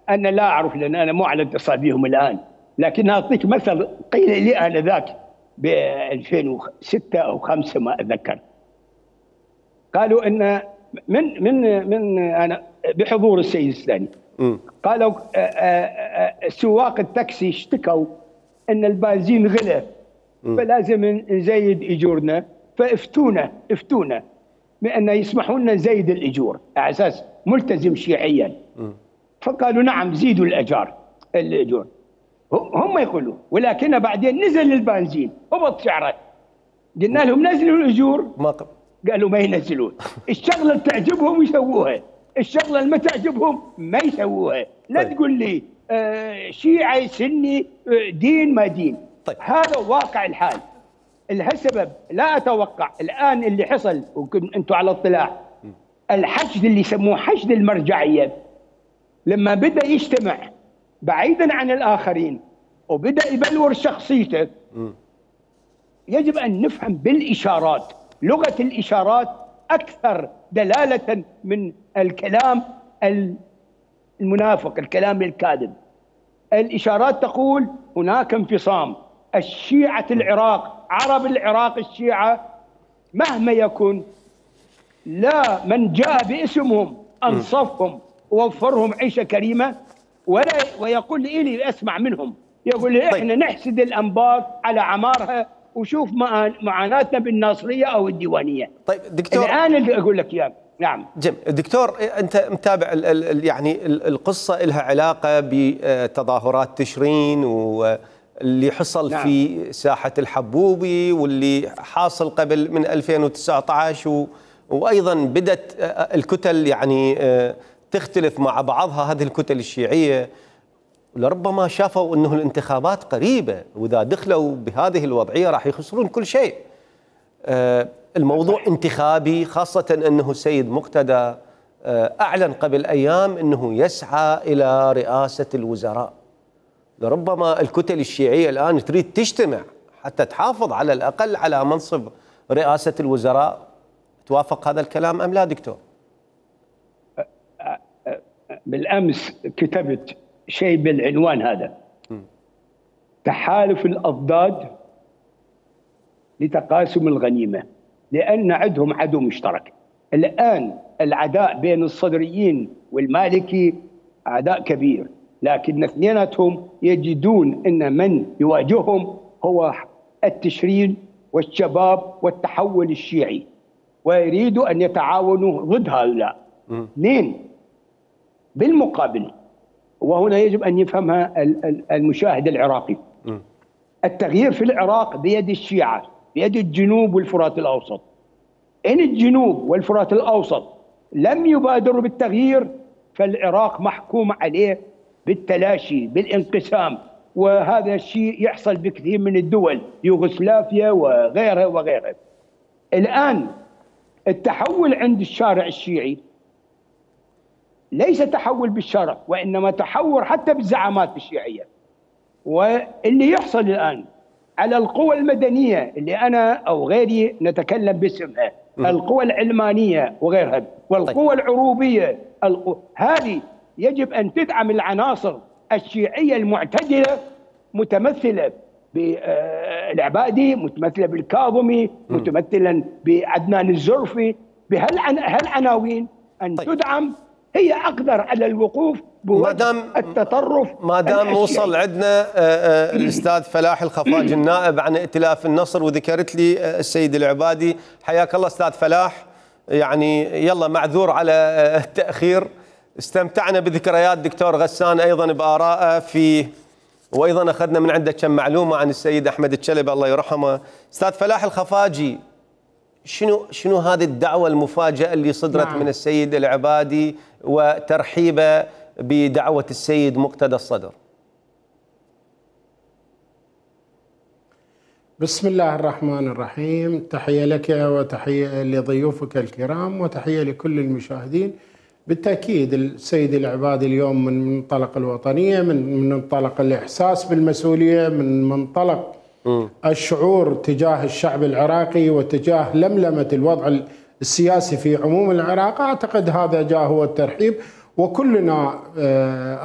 انا لا اعرف، لان انا مو على اتصال بهم الان، لكن اعطيك مثل قيل لي انذاك ب ألفين وستة او خمسة ما اتذكر. قالوا ان من من من انا بحضور السيد السيستاني، قالوا سواق التاكسي اشتكوا ان البنزين غلى فلازم نزيد اجورنا، فافتونا افتونا بان يسمحوا لنا نزيد الاجور على اساس ملتزم شيعيا. فقالوا نعم زيدوا الاجار الاجور. هم يقولوا، ولكن بعدين نزل البنزين هبط سعره. قلنا لهم نزلوا الاجور، ما قبل. قالوا ما ينزلون. الشغله اللي تعجبهم يسووها، الشغله اللي ما تعجبهم ما يسووها. لا طيب. تقول لي آه شيعي سني آه دين ما دين. طيب. هذا واقع الحال. السبب لا اتوقع الان اللي حصل، وانتم على اطلاع، الحشد اللي يسموه حشد المرجعيه، لما بدا يجتمع بعيدا عن الاخرين وبدا يبلور شخصيته، يجب ان نفهم بالاشارات. لغه الاشارات اكثر دلاله من الكلام المنافق، الكلام الكاذب. الاشارات تقول هناك انفصام. الشيعة العراق، عرب العراق الشيعة مهما يكن، لا من جاء باسمهم انصفهم ووفرهم عيشه كريمه، ولا ويقول لي إلي اسمع منهم، يقول لي احنا طيب. نحسد الانبار على عمارها وشوف معاناتنا بالناصريه او الديوانيه. طيب دكتور، الان اللي اقول لك اياه. نعم جم دكتور، انت متابع ال ال يعني القصه لها علاقه بتظاهرات تشرين واللي حصل نعم. في ساحه الحبوبي واللي حاصل قبل من ألفين وتسعة عشر و وايضا بدت الكتل يعني تختلف مع بعضها، هذه الكتل الشيعيه، لربما شافوا انه الانتخابات قريبه واذا دخلوا بهذه الوضعيه راح يخسرون كل شيء. الموضوع انتخابي، خاصه انه السيد مقتدى اعلن قبل ايام انه يسعى الى رئاسه الوزراء. لربما الكتل الشيعيه الان تريد تجتمع حتى تحافظ على الاقل على منصب رئاسه الوزراء. توافق هذا الكلام ام لا دكتور؟ بالامس كتبت شيء بالعنوان هذا، م. تحالف الاضداد لتقاسم الغنيمه، لان عندهم عدو مشترك. الان العداء بين الصدريين والمالكي عداء كبير، لكن اثنيناتهم يجدون ان من يواجههم هو التشرين والشباب والتحول الشيعي، ويريدوا ان يتعاونوا ضد هؤلاء. اثنين بالمقابل، وهنا يجب ان يفهمها المشاهد العراقي، م. التغيير في العراق بيد الشيعة، بيد الجنوب والفرات الاوسط. ان الجنوب والفرات الاوسط لم يبادروا بالتغيير، فالعراق محكوم عليه بالتلاشي بالانقسام، وهذا الشيء يحصل بكثير من الدول، يوغوسلافيا وغيرها وغيرها. الآن التحول عند الشارع الشيعي ليس تحول بالشرع، وإنما تحول حتى بالزعامات الشيعية. واللي يحصل الآن على القوى المدنية اللي أنا أو غيري نتكلم باسمها، القوى العلمانية وغيرها، والقوى العروبية، القوى هذه يجب أن تدعم العناصر الشيعية المعتدلة، متمثلة بالعبادي، متمثلة بالكاظمي، متمثلا بعدنان الزرفي، بهالعناوين أن طيب. تدعم، هي أقدر على الوقوف بوجه التطرف. ما دام وصل عندنا الأستاذ فلاح الخفاجي النائب عن ائتلاف النصر، وذكرت لي السيد العبادي، حياك الله أستاذ فلاح. يعني يلا معذور على التأخير. استمتعنا بذكريات دكتور غسان أيضا بآرائه في، وأيضا أخذنا من عنده كم معلومة عن السيد أحمد الشلبي الله يرحمه. أستاذ فلاح الخفاجي، شنو شنو هذه الدعوة المفاجئة اللي صدرت نعم. من السيد العبادي وترحيبه بدعوة السيد مقتدى الصدر؟ بسم الله الرحمن الرحيم. تحية لك وتحية لضيوفك الكرام وتحية لكل المشاهدين. بالتأكيد السيد العبادي اليوم من منطلق الوطنية، من منطلق الإحساس بالمسؤولية، من منطلق م. الشعور تجاه الشعب العراقي وتجاه لملمة الوضع السياسي في عموم العراق، أعتقد هذا جاء هو الترحيب، وكلنا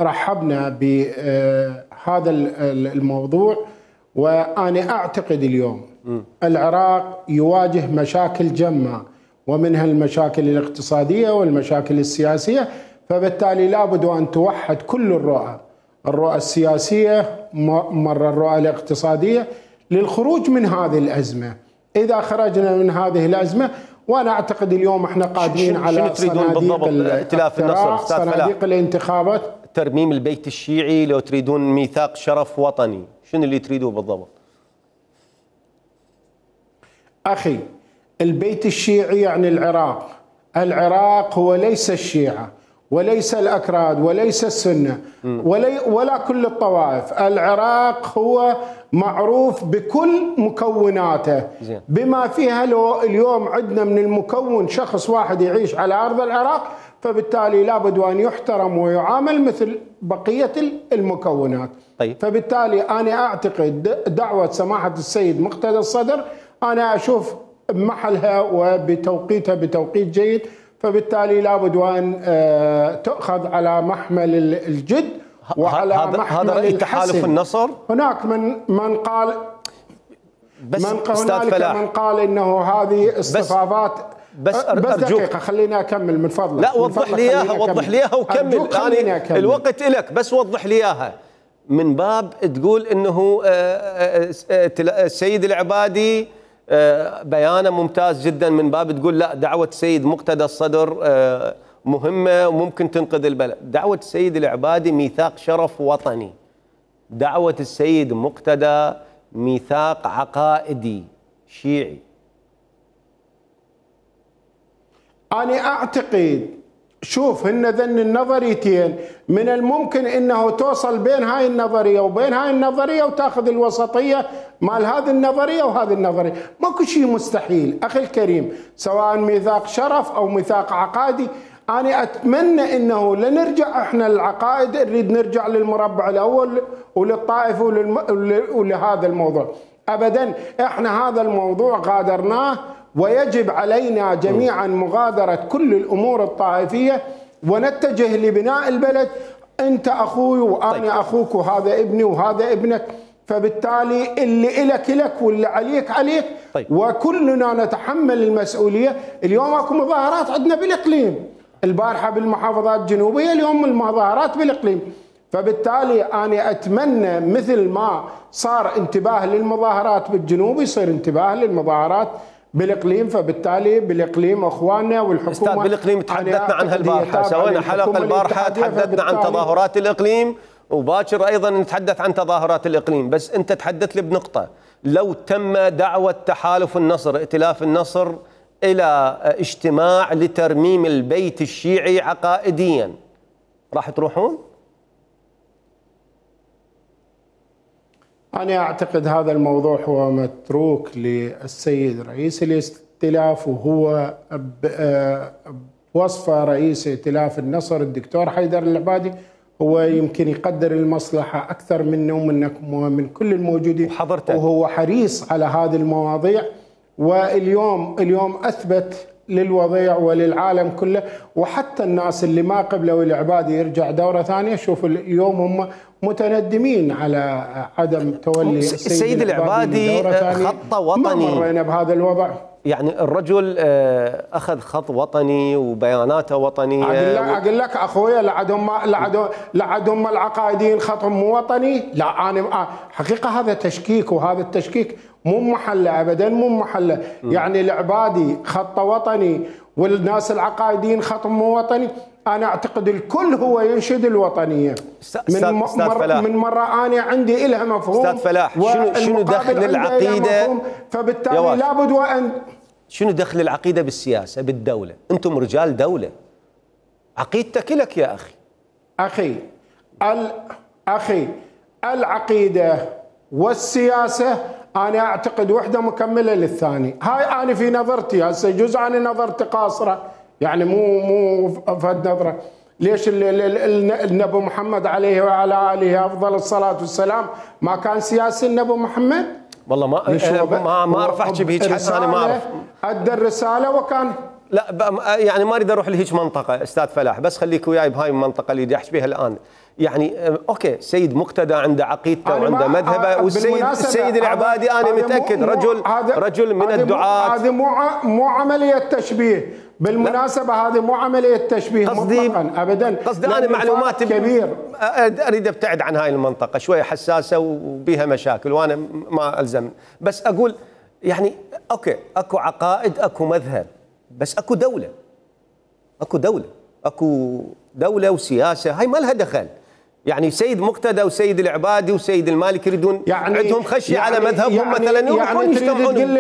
رحبنا بهذا الموضوع. وأنا أعتقد اليوم م. العراق يواجه مشاكل جمة، ومنها المشاكل الاقتصادية والمشاكل السياسية، فبالتالي لابد أن توحد كل الرؤى، الرؤى السياسية مرة الرؤى الاقتصادية، للخروج من هذه الأزمة. إذا خرجنا من هذه الأزمة، وأنا أعتقد اليوم احنا قادمين على صناديق ائتلاف النصر، صناديق الانتخابات، ترميم البيت الشيعي، لو تريدون ميثاق شرف وطني، شنو اللي تريدوه بالضبط؟ أخي، البيت الشيعي يعني العراق. العراق هو ليس الشيعة وليس الأكراد وليس السنة ولا, ولا كل الطوائف. العراق هو معروف بكل مكوناته، بما فيها لو اليوم عندنا من المكون شخص واحد يعيش على أرض العراق، فبالتالي لابد أن يحترم ويعامل مثل بقية المكونات. طيب. فبالتالي أنا أعتقد دعوة سماحة السيد مقتدى الصدر أنا أشوف بمحلها وبتوقيتها بتوقيت جيد، فبالتالي لابد أن تؤخذ على محمل الجد وعلى هذا محمل هذا رأي تحالف النصر. هناك من من قال بس من هنالك من قال انه هذه اصطفافات. بس, بس, بس دقيقة خليني أكمل من فضلك. لا وضح لي إياها، وضح لي إياها وكمل. يعني الوقت إلك، بس وضح لي إياها. من باب تقول إنه السيد العبادي بيانه ممتاز جدا، من باب تقول لا دعوة السيد مقتدى الصدر مهمة وممكن تنقذ البلد. دعوة السيد العبادي ميثاق شرف وطني، دعوة السيد مقتدى ميثاق عقائدي شيعي. أنا أعتقد شوف هن ذن النظريتين من الممكن انه توصل بين هاي النظريه وبين هاي النظريه وتاخذ الوسطيه مال هذه النظريه وهذه النظريه، ماكو شيء مستحيل اخي الكريم، سواء ميثاق شرف او ميثاق عقائدي. انا اتمنى انه لنرجع احنا للعقائد، نريد نرجع للمربع الاول وللطائفه ولهذا الموضوع. ابدا احنا هذا الموضوع غادرناه، ويجب علينا جميعا مغادرة كل الأمور الطائفية ونتجه لبناء البلد. أنت أخوي وأنا طيب. أخوك، وهذا ابني وهذا ابنك، فبالتالي اللي إلك إلك واللي عليك عليك. طيب. وكلنا نتحمل المسؤولية. اليوم أكو مظاهرات عندنا بالإقليم، البارحة بالمحافظات الجنوبية، اليوم المظاهرات بالإقليم. فبالتالي أنا أتمنى مثل ما صار انتباه للمظاهرات بالجنوب يصير انتباه للمظاهرات بالاقليم. فبالتالي بالاقليم اخواننا والحكومه. استاذ بالاقليم تحدثنا عنها البارحه، سوينا حلقه البارحه تحدثنا عن تظاهرات الاقليم، وباكر ايضا نتحدث عن تظاهرات الاقليم. بس انت تحدث لي بنقطه، لو تم دعوه تحالف النصر ائتلاف النصر إلى اجتماع لترميم البيت الشيعي عقائديا، راح تروحون؟ أنا أعتقد هذا الموضوع هو متروك للسيد رئيس الائتلاف، وهو بوصفه رئيس ائتلاف النصر الدكتور حيدر العبادي هو يمكن يقدر المصلحة أكثر منه ومنكم ومن كل الموجودين، وحضرتك وهو حريص على هذه المواضيع. واليوم اليوم أثبت للوضيع وللعالم كله، وحتى الناس اللي ما قبلوا العبادي يرجع دورة ثانية. شوفوا اليوم هم متندمين على عدم تولي السيد العبادي خط وطني. ما مرينا بهذا الوضع. يعني الرجل اخذ خط وطني وبياناته وطنيه. اقول لك اقول لك اخويا لعدهم لعدهم لعدهم العقائديين خطهم مو وطني. لا انا حقيقه هذا تشكيك، وهذا التشكيك مو محله ابدا، مو محله. يعني العبادي خط وطني والناس العقائديين خطهم مو وطني. انا اعتقد الكل هو ينشد الوطنيه. من مر من مره انا عندي لها مفهوم. استاذ فلاح، شنو شنو دخل العقيده؟ فبالتالي لابد وان شنو دخل العقيده بالسياسه بالدوله؟ انتم رجال دوله، عقيدتك لك يا اخي. اخي ال اخي العقيده والسياسه انا اعتقد وحده مكمله للثاني. هاي انا في نظرتي، هسه جزء انا نظرتي قاصره، يعني مو مو فد نظره. ليش النبي محمد عليه وعلى اله افضل الصلاه والسلام ما كان سياسي النبي محمد؟ والله ما ما ما اعرف احكي بهيك حس. انا ما اعرف. ادى الرساله وكان لا يعني ما اريد اروح لهيك منطقه استاذ فلاح، بس خليك وياي بهاي المنطقه اللي بدي احكي بها الان. يعني اوكي سيد مقتدى عنده عقيدته وعنده مذهبه، والسيد السيد العبادي انا متاكد رجل رجل من الدعاة. هذه مو مو عمليه تشبيه بالمناسبه، هذه مو عمليه تشبيه مطلقا ابدا. قصدي انا معلومات كبير اريد ابتعد عن هاي المنطقه، شويه حساسه وبيها مشاكل وانا ما الزم. بس اقول يعني اوكي اكو عقائد اكو مذهب، بس اكو دوله، اكو دوله اكو دوله وسياسه، هاي ما لها دخل. يعني سيد مقتدى وسيد العبادي وسيد المالكي يريدون يعني عندهم خشيه يعني على مذهبهم يعني مثلا يروحون يعني يجتمعون.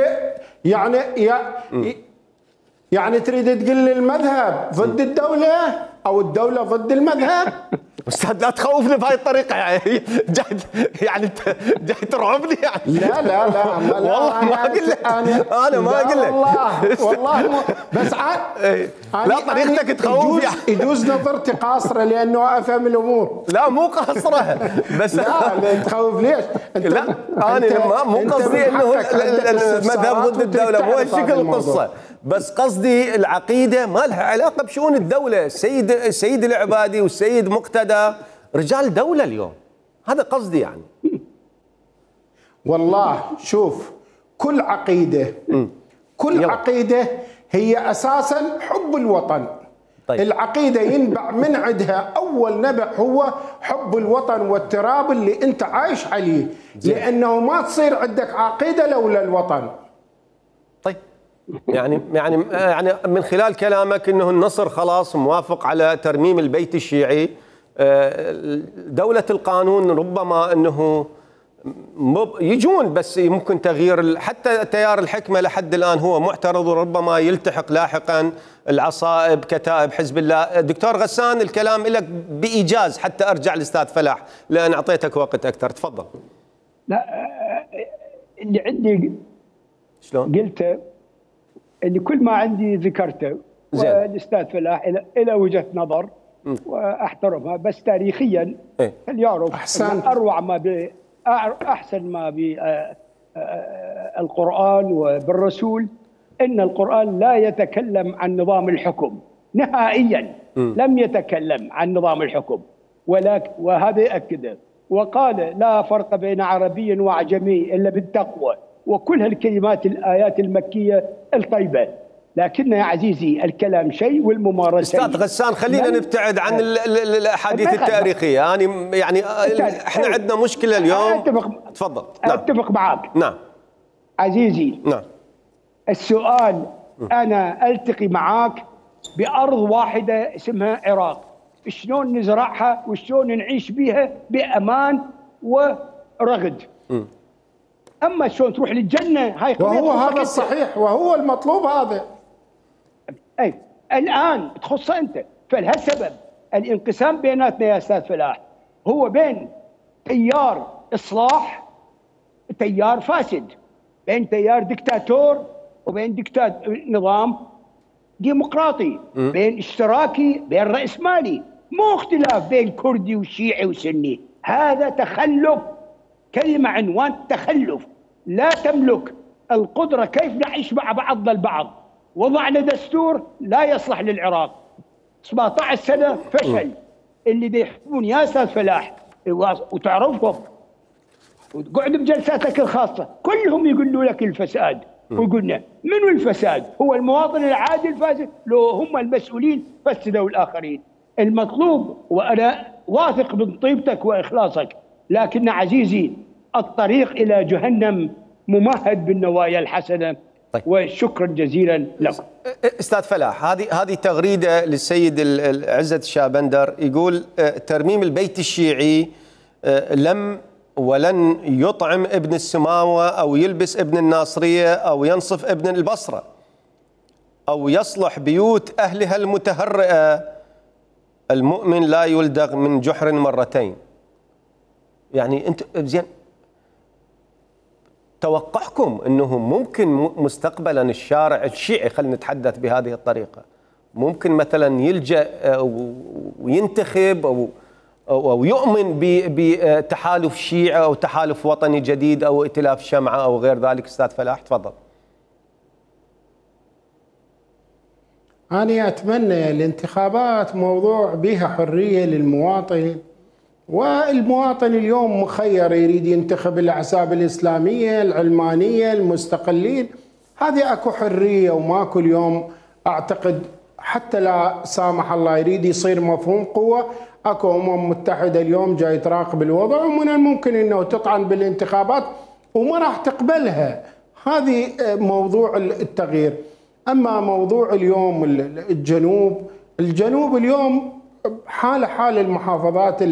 يعني يعني يعني تريد تقول لي المذهب ضد الدوله او الدوله ضد المذهب؟ استاذ لا تخوفني بهاي الطريقه، يعني جاي يعني جاي ترعبني يعني. لا لا لا والله ما اقول لك، انا, أنا ما اقول لك والله والله مو بس لا طريقتك تخوف يعني. يجوز نظرتي قاصره لانه افهم الامور. لا مو قاصره بس لا تخوف ليش؟ لا انا مو قصدي انه المذهب ضد الدوله، مو هالشكل القصه. بس قصدي العقيده ما لها علاقه بشؤون الدوله. السيد السيد العبادي والسيد مقتدى رجال دوله اليوم، هذا قصدي يعني. والله شوف كل عقيده كل يلا. عقيده هي اساسا حب الوطن. طيب. العقيده ينبع من عندها اول نبع هو حب الوطن والتراب اللي انت عايش عليه، زي. لانه ما تصير عندك عقيده لولا الوطن. طيب يعني يعني يعني من خلال كلامك انه النصر خلاص موافق على ترميم البيت الشيعي، دولة القانون ربما انه يجون، بس ممكن تغيير حتى تيار الحكمة لحد الان هو معترض، وربما يلتحق لاحقا العصائب كتائب حزب الله. دكتور غسان الكلام لك بايجاز حتى ارجع لاستاذ فلاح لان اعطيتك وقت اكثر، تفضل. لا اللي عندي شلون؟ قلته اللي كل ما عندي ذكرته، والاستاذ فلاح الى وجهه نظر م. واحترمها، بس تاريخيا إيه؟ يعرف أحسن اروع ما ب احسن ما بالقران وبالرسول ان القران لا يتكلم عن نظام الحكم نهائيا. م. لم يتكلم عن نظام الحكم، ولكن وهذا ياكده وقال لا فرق بين عربي واعجمي الا بالتقوى، وكل هالكلمات الآيات المكية الطيبة. لكن يا عزيزي الكلام شيء والممارسة. أستاذ غسان خلينا نبتعد عن الأحاديث التاريخية، يعني يعني احنا عندنا مشكلة اليوم. أتفق تفضل. نعم. أتفق معك. نعم عزيزي. نعم. السؤال أنا ألتقي معك بأرض واحدة اسمها عراق، شلون نزرعها وشلون نعيش بها بأمان ورغد. م. اما شلون تروح للجنه هاي وهو هذا الصحيح وهو المطلوب هذا. اي الان تخص انت، فلهالسبب الانقسام بيناتنا يا استاذ فلاح هو بين تيار اصلاح تيار فاسد، بين تيار دكتاتور وبين دكتات نظام ديمقراطي، بين اشتراكي بين رأسمالي، مو اختلاف بين كردي وشيعي وسني. هذا تخلف، كلمة عنوان تخلف. لا تملك القدرة كيف نعيش مع بعضنا البعض. وضعنا دستور لا يصلح للعراق، سبعة عشر سنة فشل. اللي بيحكمون يا استاذ فلاح وتعرفهم وتقعد بجلساتك الخاصة كلهم يقولوا لك الفساد، وقلنا منو الفساد؟ هو المواطن العادي الفاسد؟ لو هم المسؤولين فسدوا الآخرين. المطلوب، وأنا واثق من طيبتك وإخلاصك، لكن عزيزي الطريق إلى جهنم ممهد بالنوايا الحسنة. طيب. وشكرا جزيلا لكم. استاذ فلاح، هذه هذه تغريده للسيد عزت الشابندر يقول ترميم البيت الشيعي لم ولن يطعم ابن السماوه او يلبس ابن الناصريه او ينصف ابن البصره او يصلح بيوت اهلها المتهرئه. المؤمن لا يلدغ من جحر مرتين. يعني انت زين، توقعكم انه ممكن مستقبلا الشارع الشيعي، خلينا نتحدث بهذه الطريقه، ممكن مثلا يلجأ وينتخب او او يؤمن بتحالف شيعي او تحالف وطني جديد او ائتلاف شمعه او غير ذلك؟ استاذ فلاح تفضل. أنا أتمنى الانتخابات موضوع بها حرية للمواطن، والمواطن اليوم مخير، يريد ينتخب الأحزاب الإسلامية العلمانية المستقلين، هذه أكو حرية وماكو اليوم. أعتقد حتى لا سامح الله يريد يصير مفهوم قوة، أكو أمم متحدة اليوم جاي تراقب الوضع، ومن الممكن أنه تطعن بالانتخابات وما راح تقبلها. هذه موضوع التغيير. أما موضوع اليوم الجنوب، الجنوب اليوم حال حال المحافظات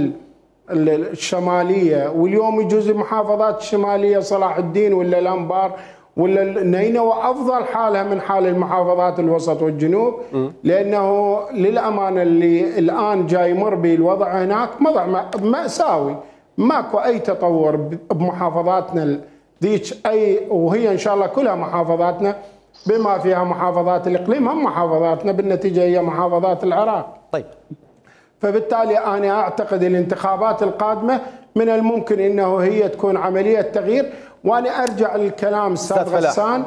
الشمالية، واليوم يجوز المحافظات الشمالية صلاح الدين ولا الأنبار ولا النينوى أفضل حالها من حال المحافظات الوسط والجنوب، لأنه للأمانة اللي الآن جاي يمر به الوضع هناك وضع مأساوي، ماكو أي تطور بمحافظاتنا ذيك أي، وهي إن شاء الله كلها محافظاتنا بما فيها محافظات الإقليم هم محافظاتنا، بالنتيجة هي محافظات العراق. طيب، فبالتالي أنا أعتقد الانتخابات القادمة من الممكن أنه هي تكون عملية تغيير. وأنا أرجع للكلام أستاذ غسان،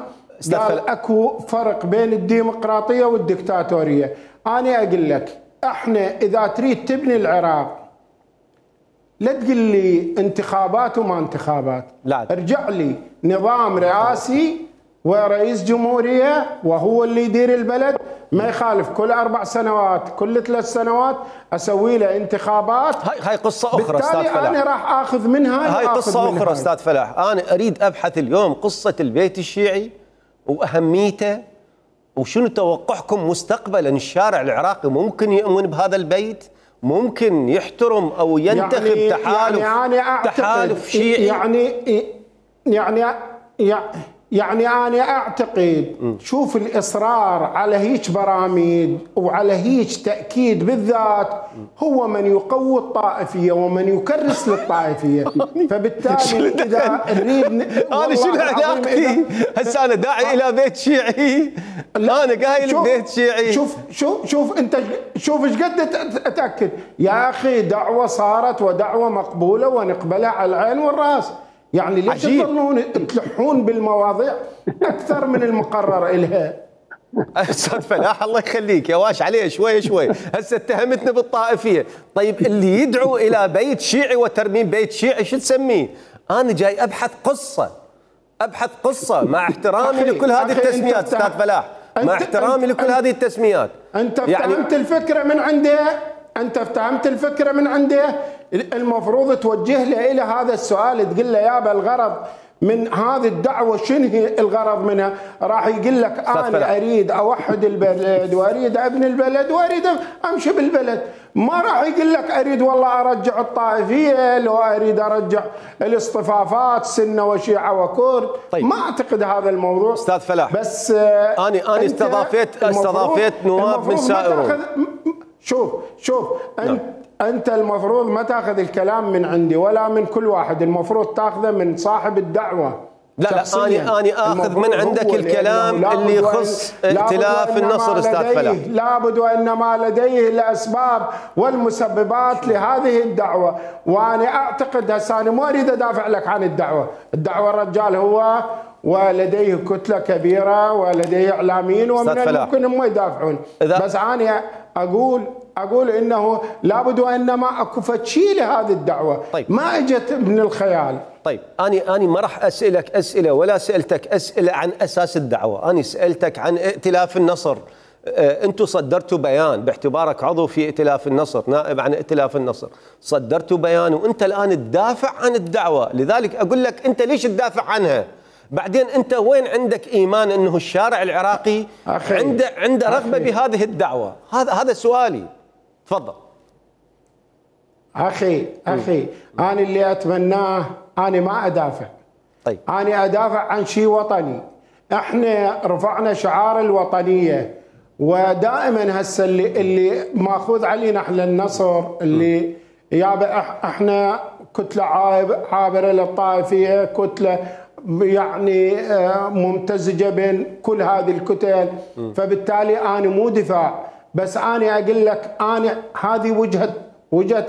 قال أكو فرق بين الديمقراطية والدكتاتورية. أنا أقول لك إحنا إذا تريد تبني العراق لا تقول لي انتخابات وما انتخابات، لا. ارجع لي نظام رئاسي ورئيس جمهورية وهو اللي يدير البلد، ما يخالف كل أربع سنوات كل ثلاث سنوات أسوي له انتخابات. هاي هاي قصة أخرى أستاذ فلاح، أنا راح آخذ منها. هاي قصة أخرى أستاذ فلاح. أنا أريد أبحث اليوم قصة البيت الشيعي وأهميته، وشنو توقعكم مستقبلا الشارع العراقي ممكن يؤمن بهذا البيت، ممكن يحترم أو ينتخب يعني تحالف يعني تحالف شيعي. يعني يعني يعني يعني أنا أعتقد م. شوف الإصرار على هيك برامج وعلى هيك تأكيد بالذات هو من يقوي الطائفية ومن يكرس للطائفية. فبالتالي إذا نريد أنا شنو علاقتي هسه؟ أنا داعي إلى بيت شيعي، أنا قايل بيت شيعي. شوف شوف شوف أنت شوف إيش قد أتأكد يا أخي، دعوة صارت ودعوة مقبولة ونقبلها على العين والرأس. يعني ليش تظلون تلحون بالمواضيع أكثر من المقرر إلها؟ أستاذ فلاح الله يخليك يا واش عليه شوي شوي، هسه اتهمتنا بالطائفية. طيب اللي يدعو إلى بيت شيعي وترميم بيت شيعي شو تسميه؟ أنا جاي أبحث قصة، أبحث قصة مع احترامي لكل هذه التسميات أستاذ فلاح، مع احترامي لكل هذه التسميات. أنت افتهمت يعني الفكرة من عندها، أنت افتهمت الفكرة من عنده، المفروض توجه له إلى هذا السؤال، تقول له يابا الغرض من هذه الدعوة شنو هي الغرض منها؟ راح يقول لك أنا أريد أوحد البلد وأريد أبني البلد وأريد أمشي بالبلد، ما راح يقول لك أريد والله أرجع الطائفية، لو أريد أرجع الاصطفافات سنة وشيعة وكرد. طيب. ما أعتقد هذا الموضوع أستاذ فلاح. بس أنا أنا استضافيت استضافيت نواب من سائرون. شوف شوف أنت نعم. أنت المفروض ما تأخذ الكلام من عندي ولا من كل واحد، المفروض تأخذه من صاحب الدعوة. لا لا أنا أنا آخذ من عندك الكلام اللي يخص ائتلاف النصر أستاذ فلاح. لابد وإنما لديه الأسباب والمسببات لهذه الدعوة، وأنا أعتقد هسه أنا ما أريد أدافع لك عن الدعوة، الدعوة الرجال هو ولديه كتلة كبيرة ولديه إعلاميين ومن الممكن هم يدافعون، بس أنا أقول أقول إنه لابد وإنما أكو شيء لهذه الدعوة. طيب. ما إجت من الخيال. طيب أنا أنا ما راح أسألك أسئلة ولا سألتك أسئلة عن أساس الدعوة، أنا سألتك عن ائتلاف النصر. أنتم صدرتوا بيان باعتبارك عضو في ائتلاف النصر، نائب عن ائتلاف النصر، صدرتوا بيان وأنت الآن تدافع عن الدعوة، لذلك أقول لك أنت ليش تدافع عنها؟ بعدين أنت وين عندك إيمان أنه الشارع العراقي عنده عنده رغبة بهذه الدعوة؟ هذا هذا سؤالي. تفضل. أخي أخي أنا اللي أتمناه أنا ما أدافع. طيب. أنا أدافع عن شيء وطني. إحنا رفعنا شعار الوطنية، ودائما هسه اللي اللي ماخوذ علينا احنا النصر اللي يابا احنا كتلة عابرة للطائفية، كتلة يعني ممتزجة بين كل هذه الكتل، فبالتالي أنا مو دفاع، بس أنا أقول لك أنا هذه وجهة وجهة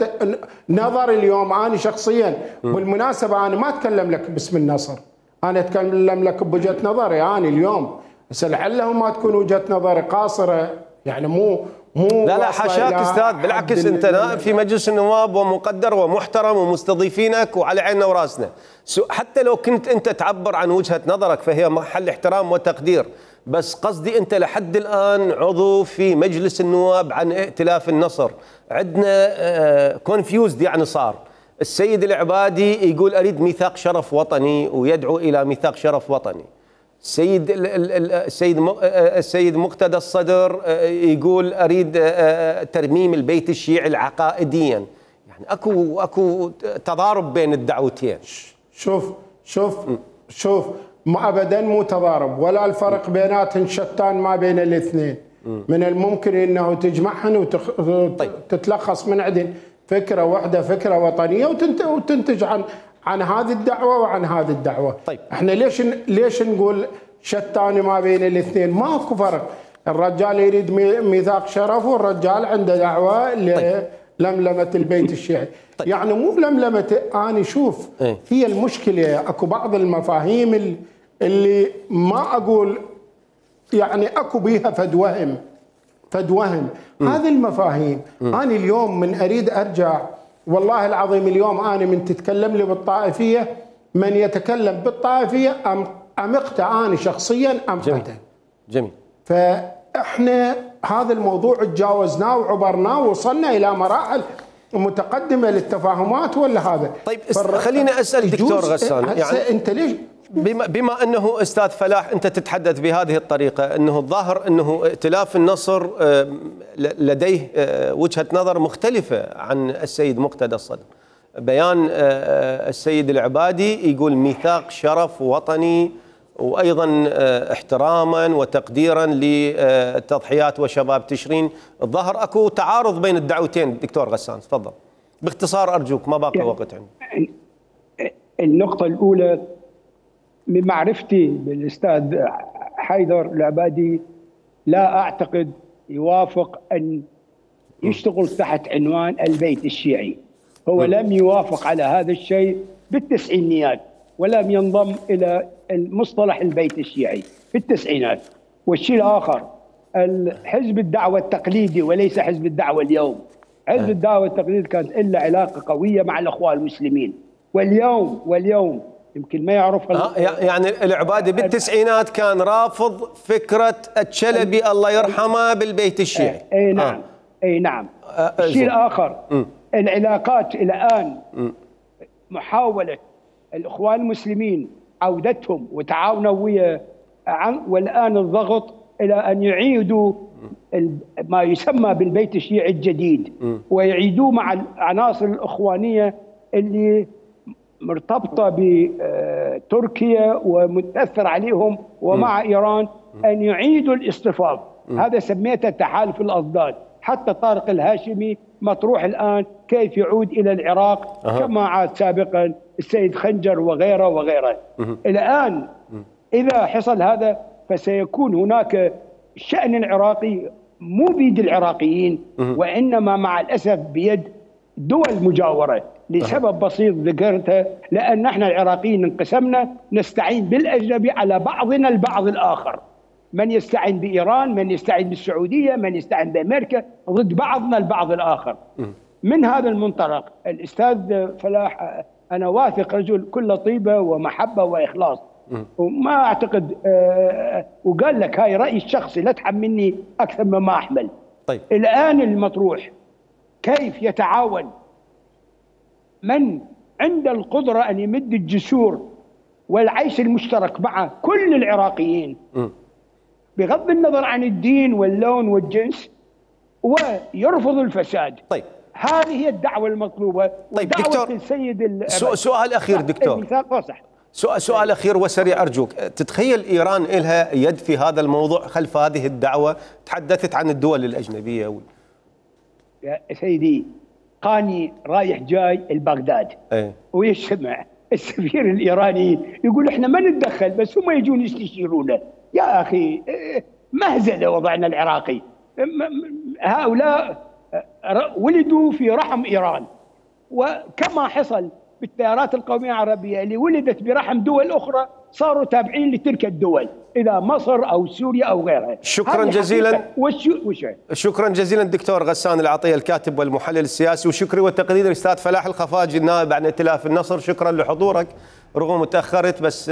نظر اليوم أنا شخصيا. بالمناسبة أنا ما أتكلم لك باسم النصر، أنا أتكلم لك بوجهة نظري أنا اليوم، بس لعله ما تكون وجهة نظري قاصرة، يعني مو مو لا لا حاشاك استاذ، بالعكس انت نائب في مجلس النواب ومقدر ومحترم ومستضيفينك وعلى عيننا وراسنا، حتى لو كنت انت تعبر عن وجهة نظرك فهي محل احترام وتقدير، بس قصدي انت لحد الان عضو في مجلس النواب عن ائتلاف النصر، عندنا كونفيوزد يعني صار السيد العبادي يقول اريد ميثاق شرف وطني ويدعو الى ميثاق شرف وطني، السيد السيد السيد مقتدى الصدر يقول اريد ترميم البيت الشيعي العقائديا، يعني اكو اكو تضارب بين الدعوتين. شوف شوف شوف ما ابدا مو تضارب، ولا الفرق بيناتهم شتان ما بين الاثنين، من الممكن انه تجمعهن وتتلخص من عندهم فكره واحده، فكره وطنيه، وتنتج عن عن هذه الدعوه وعن هذه الدعوه. طيب. احنا ليش ليش نقول شتان ما بين الاثنين؟ ماكو فرق، الرجال يريد ميثاق شرف والرجال عنده دعوه للملمه البيت الشيعي. طيب. يعني مو لملمه، انا شوف ايه؟ هي المشكله اكو بعض المفاهيم اللي ما اقول يعني اكو بيها فد وهم فد وهم هذه المفاهيم. م. انا اليوم من اريد ارجع والله العظيم، اليوم انا من تتكلم لي بالطائفيه، من يتكلم بالطائفيه امقته انا شخصيا امقته. جميل. جميل. فاحنا هذا الموضوع تجاوزناه وعبرناه ووصلنا الى مراحل متقدمه للتفاهمات ولا هذا. طيب خليني اسال دكتور غسان، يعني انت ليش بما, بما انه استاذ فلاح انت تتحدث بهذه الطريقه، انه الظاهر انه ائتلاف النصر لديه وجهه نظر مختلفه عن السيد مقتدى الصدر. بيان السيد العبادي يقول ميثاق شرف وطني، وايضا احتراما وتقديرا للتضحيات وشباب تشرين. الظاهر اكو تعارض بين الدعوتين. دكتور غسان تفضل باختصار ارجوك، ما باقي وقت عندي. النقطه الاولى، من معرفتي بالاستاذ حيدر العبادي لا اعتقد يوافق ان يشتغل تحت عنوان البيت الشيعي، هو لم يوافق على هذا الشيء بالتسعينيات، ولم ينضم الى المصطلح البيت الشيعي في التسعينات. والشيء الاخر، الحزب الدعوه التقليدي وليس حزب الدعوه اليوم. حزب الدعوه التقليدي كانت له علاقه قويه مع الاخوان المسلمين، واليوم واليوم يمكن ما يعرفها. يعني العبادي بالتسعينات كان رافض فكره الشلبي الله يرحمه بالبيت الشيعي. اي نعم. آه. اي نعم. آه. الشيء الاخر، م. العلاقات الان م. محاوله الاخوان المسلمين عودتهم وتعاونوا ويا، والآن الضغط إلى أن يعيدوا ما يسمى بالبيت الشيعي الجديد ويعيدوه مع العناصر الإخوانية اللي مرتبطة بتركيا ومتأثر عليهم ومع إيران، أن يعيدوا الاصطفاف. هذا سميته تحالف الأضداد. حتى طارق الهاشمي مطروح الآن كيف يعود إلى العراق أه. كما عاد سابقا السيد خنجر وغيره وغيره. الآن إذا حصل هذا فسيكون هناك شأن عراقي مو بيد العراقيين وإنما مع الأسف بيد دول مجاورة، لسبب بسيط ذكرته، لأن نحن العراقيين انقسمنا نستعين بالأجنبي على بعضنا البعض الآخر، من يستعين بإيران، من يستعين بالسعودية، من يستعين بأمريكا، ضد بعضنا البعض الآخر. من هذا المنطلق الأستاذ فلاح أنا واثق رجل كل طيبة ومحبة وإخلاص، وما أعتقد آه وقال لك هاي رأيي الشخصي لا تحملني أكثر مما أحمل. طيب. الآن المطروح كيف يتعاون من عنده القدرة أن يمد الجسور والعيش المشترك مع كل العراقيين م. بغض النظر عن الدين واللون والجنس ويرفض الفساد. طيب. هذه هي الدعوة المطلوبة. طيب دكتور، السيد سؤال أخير دكتور، سؤال, سؤال أخير وسريع أرجوك. تتخيل إيران إلها يد في هذا الموضوع خلف هذه الدعوة؟ تحدثت عن الدول الأجنبية و... يا سيدي قاني رايح جاي البغداد ايه؟ ويسمع السفير الإيراني يقول احنا ما نتدخل بس هم يجون يستشيرونا. يا أخي مهزلة وضعنا العراقي. هؤلاء ولدوا في رحم إيران، وكما حصل بالتيارات القومية العربية اللي ولدت برحم دول أخرى صاروا تابعين لتلك الدول، إذا مصر أو سوريا أو غيرها. شكرا جزيلا. شكرا جزيلا دكتور غسان العطية الكاتب والمحلل السياسي، وشكري والتقدير الأستاذ فلاح الخفاجي النائب عن ائتلاف النصر. شكرا لحضورك رغم تأخرت، بس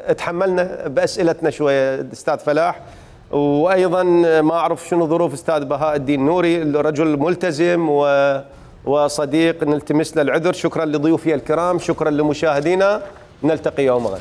اتحملنا بأسئلتنا شوية أستاذ فلاح. وأيضا ما أعرف شنو ظروف أستاذ بهاء الدين نوري، رجل ملتزم و وصديق، نلتمس له العذر. شكرا لضيوفي الكرام، شكرا لمشاهدينا، نلتقي يوم غد.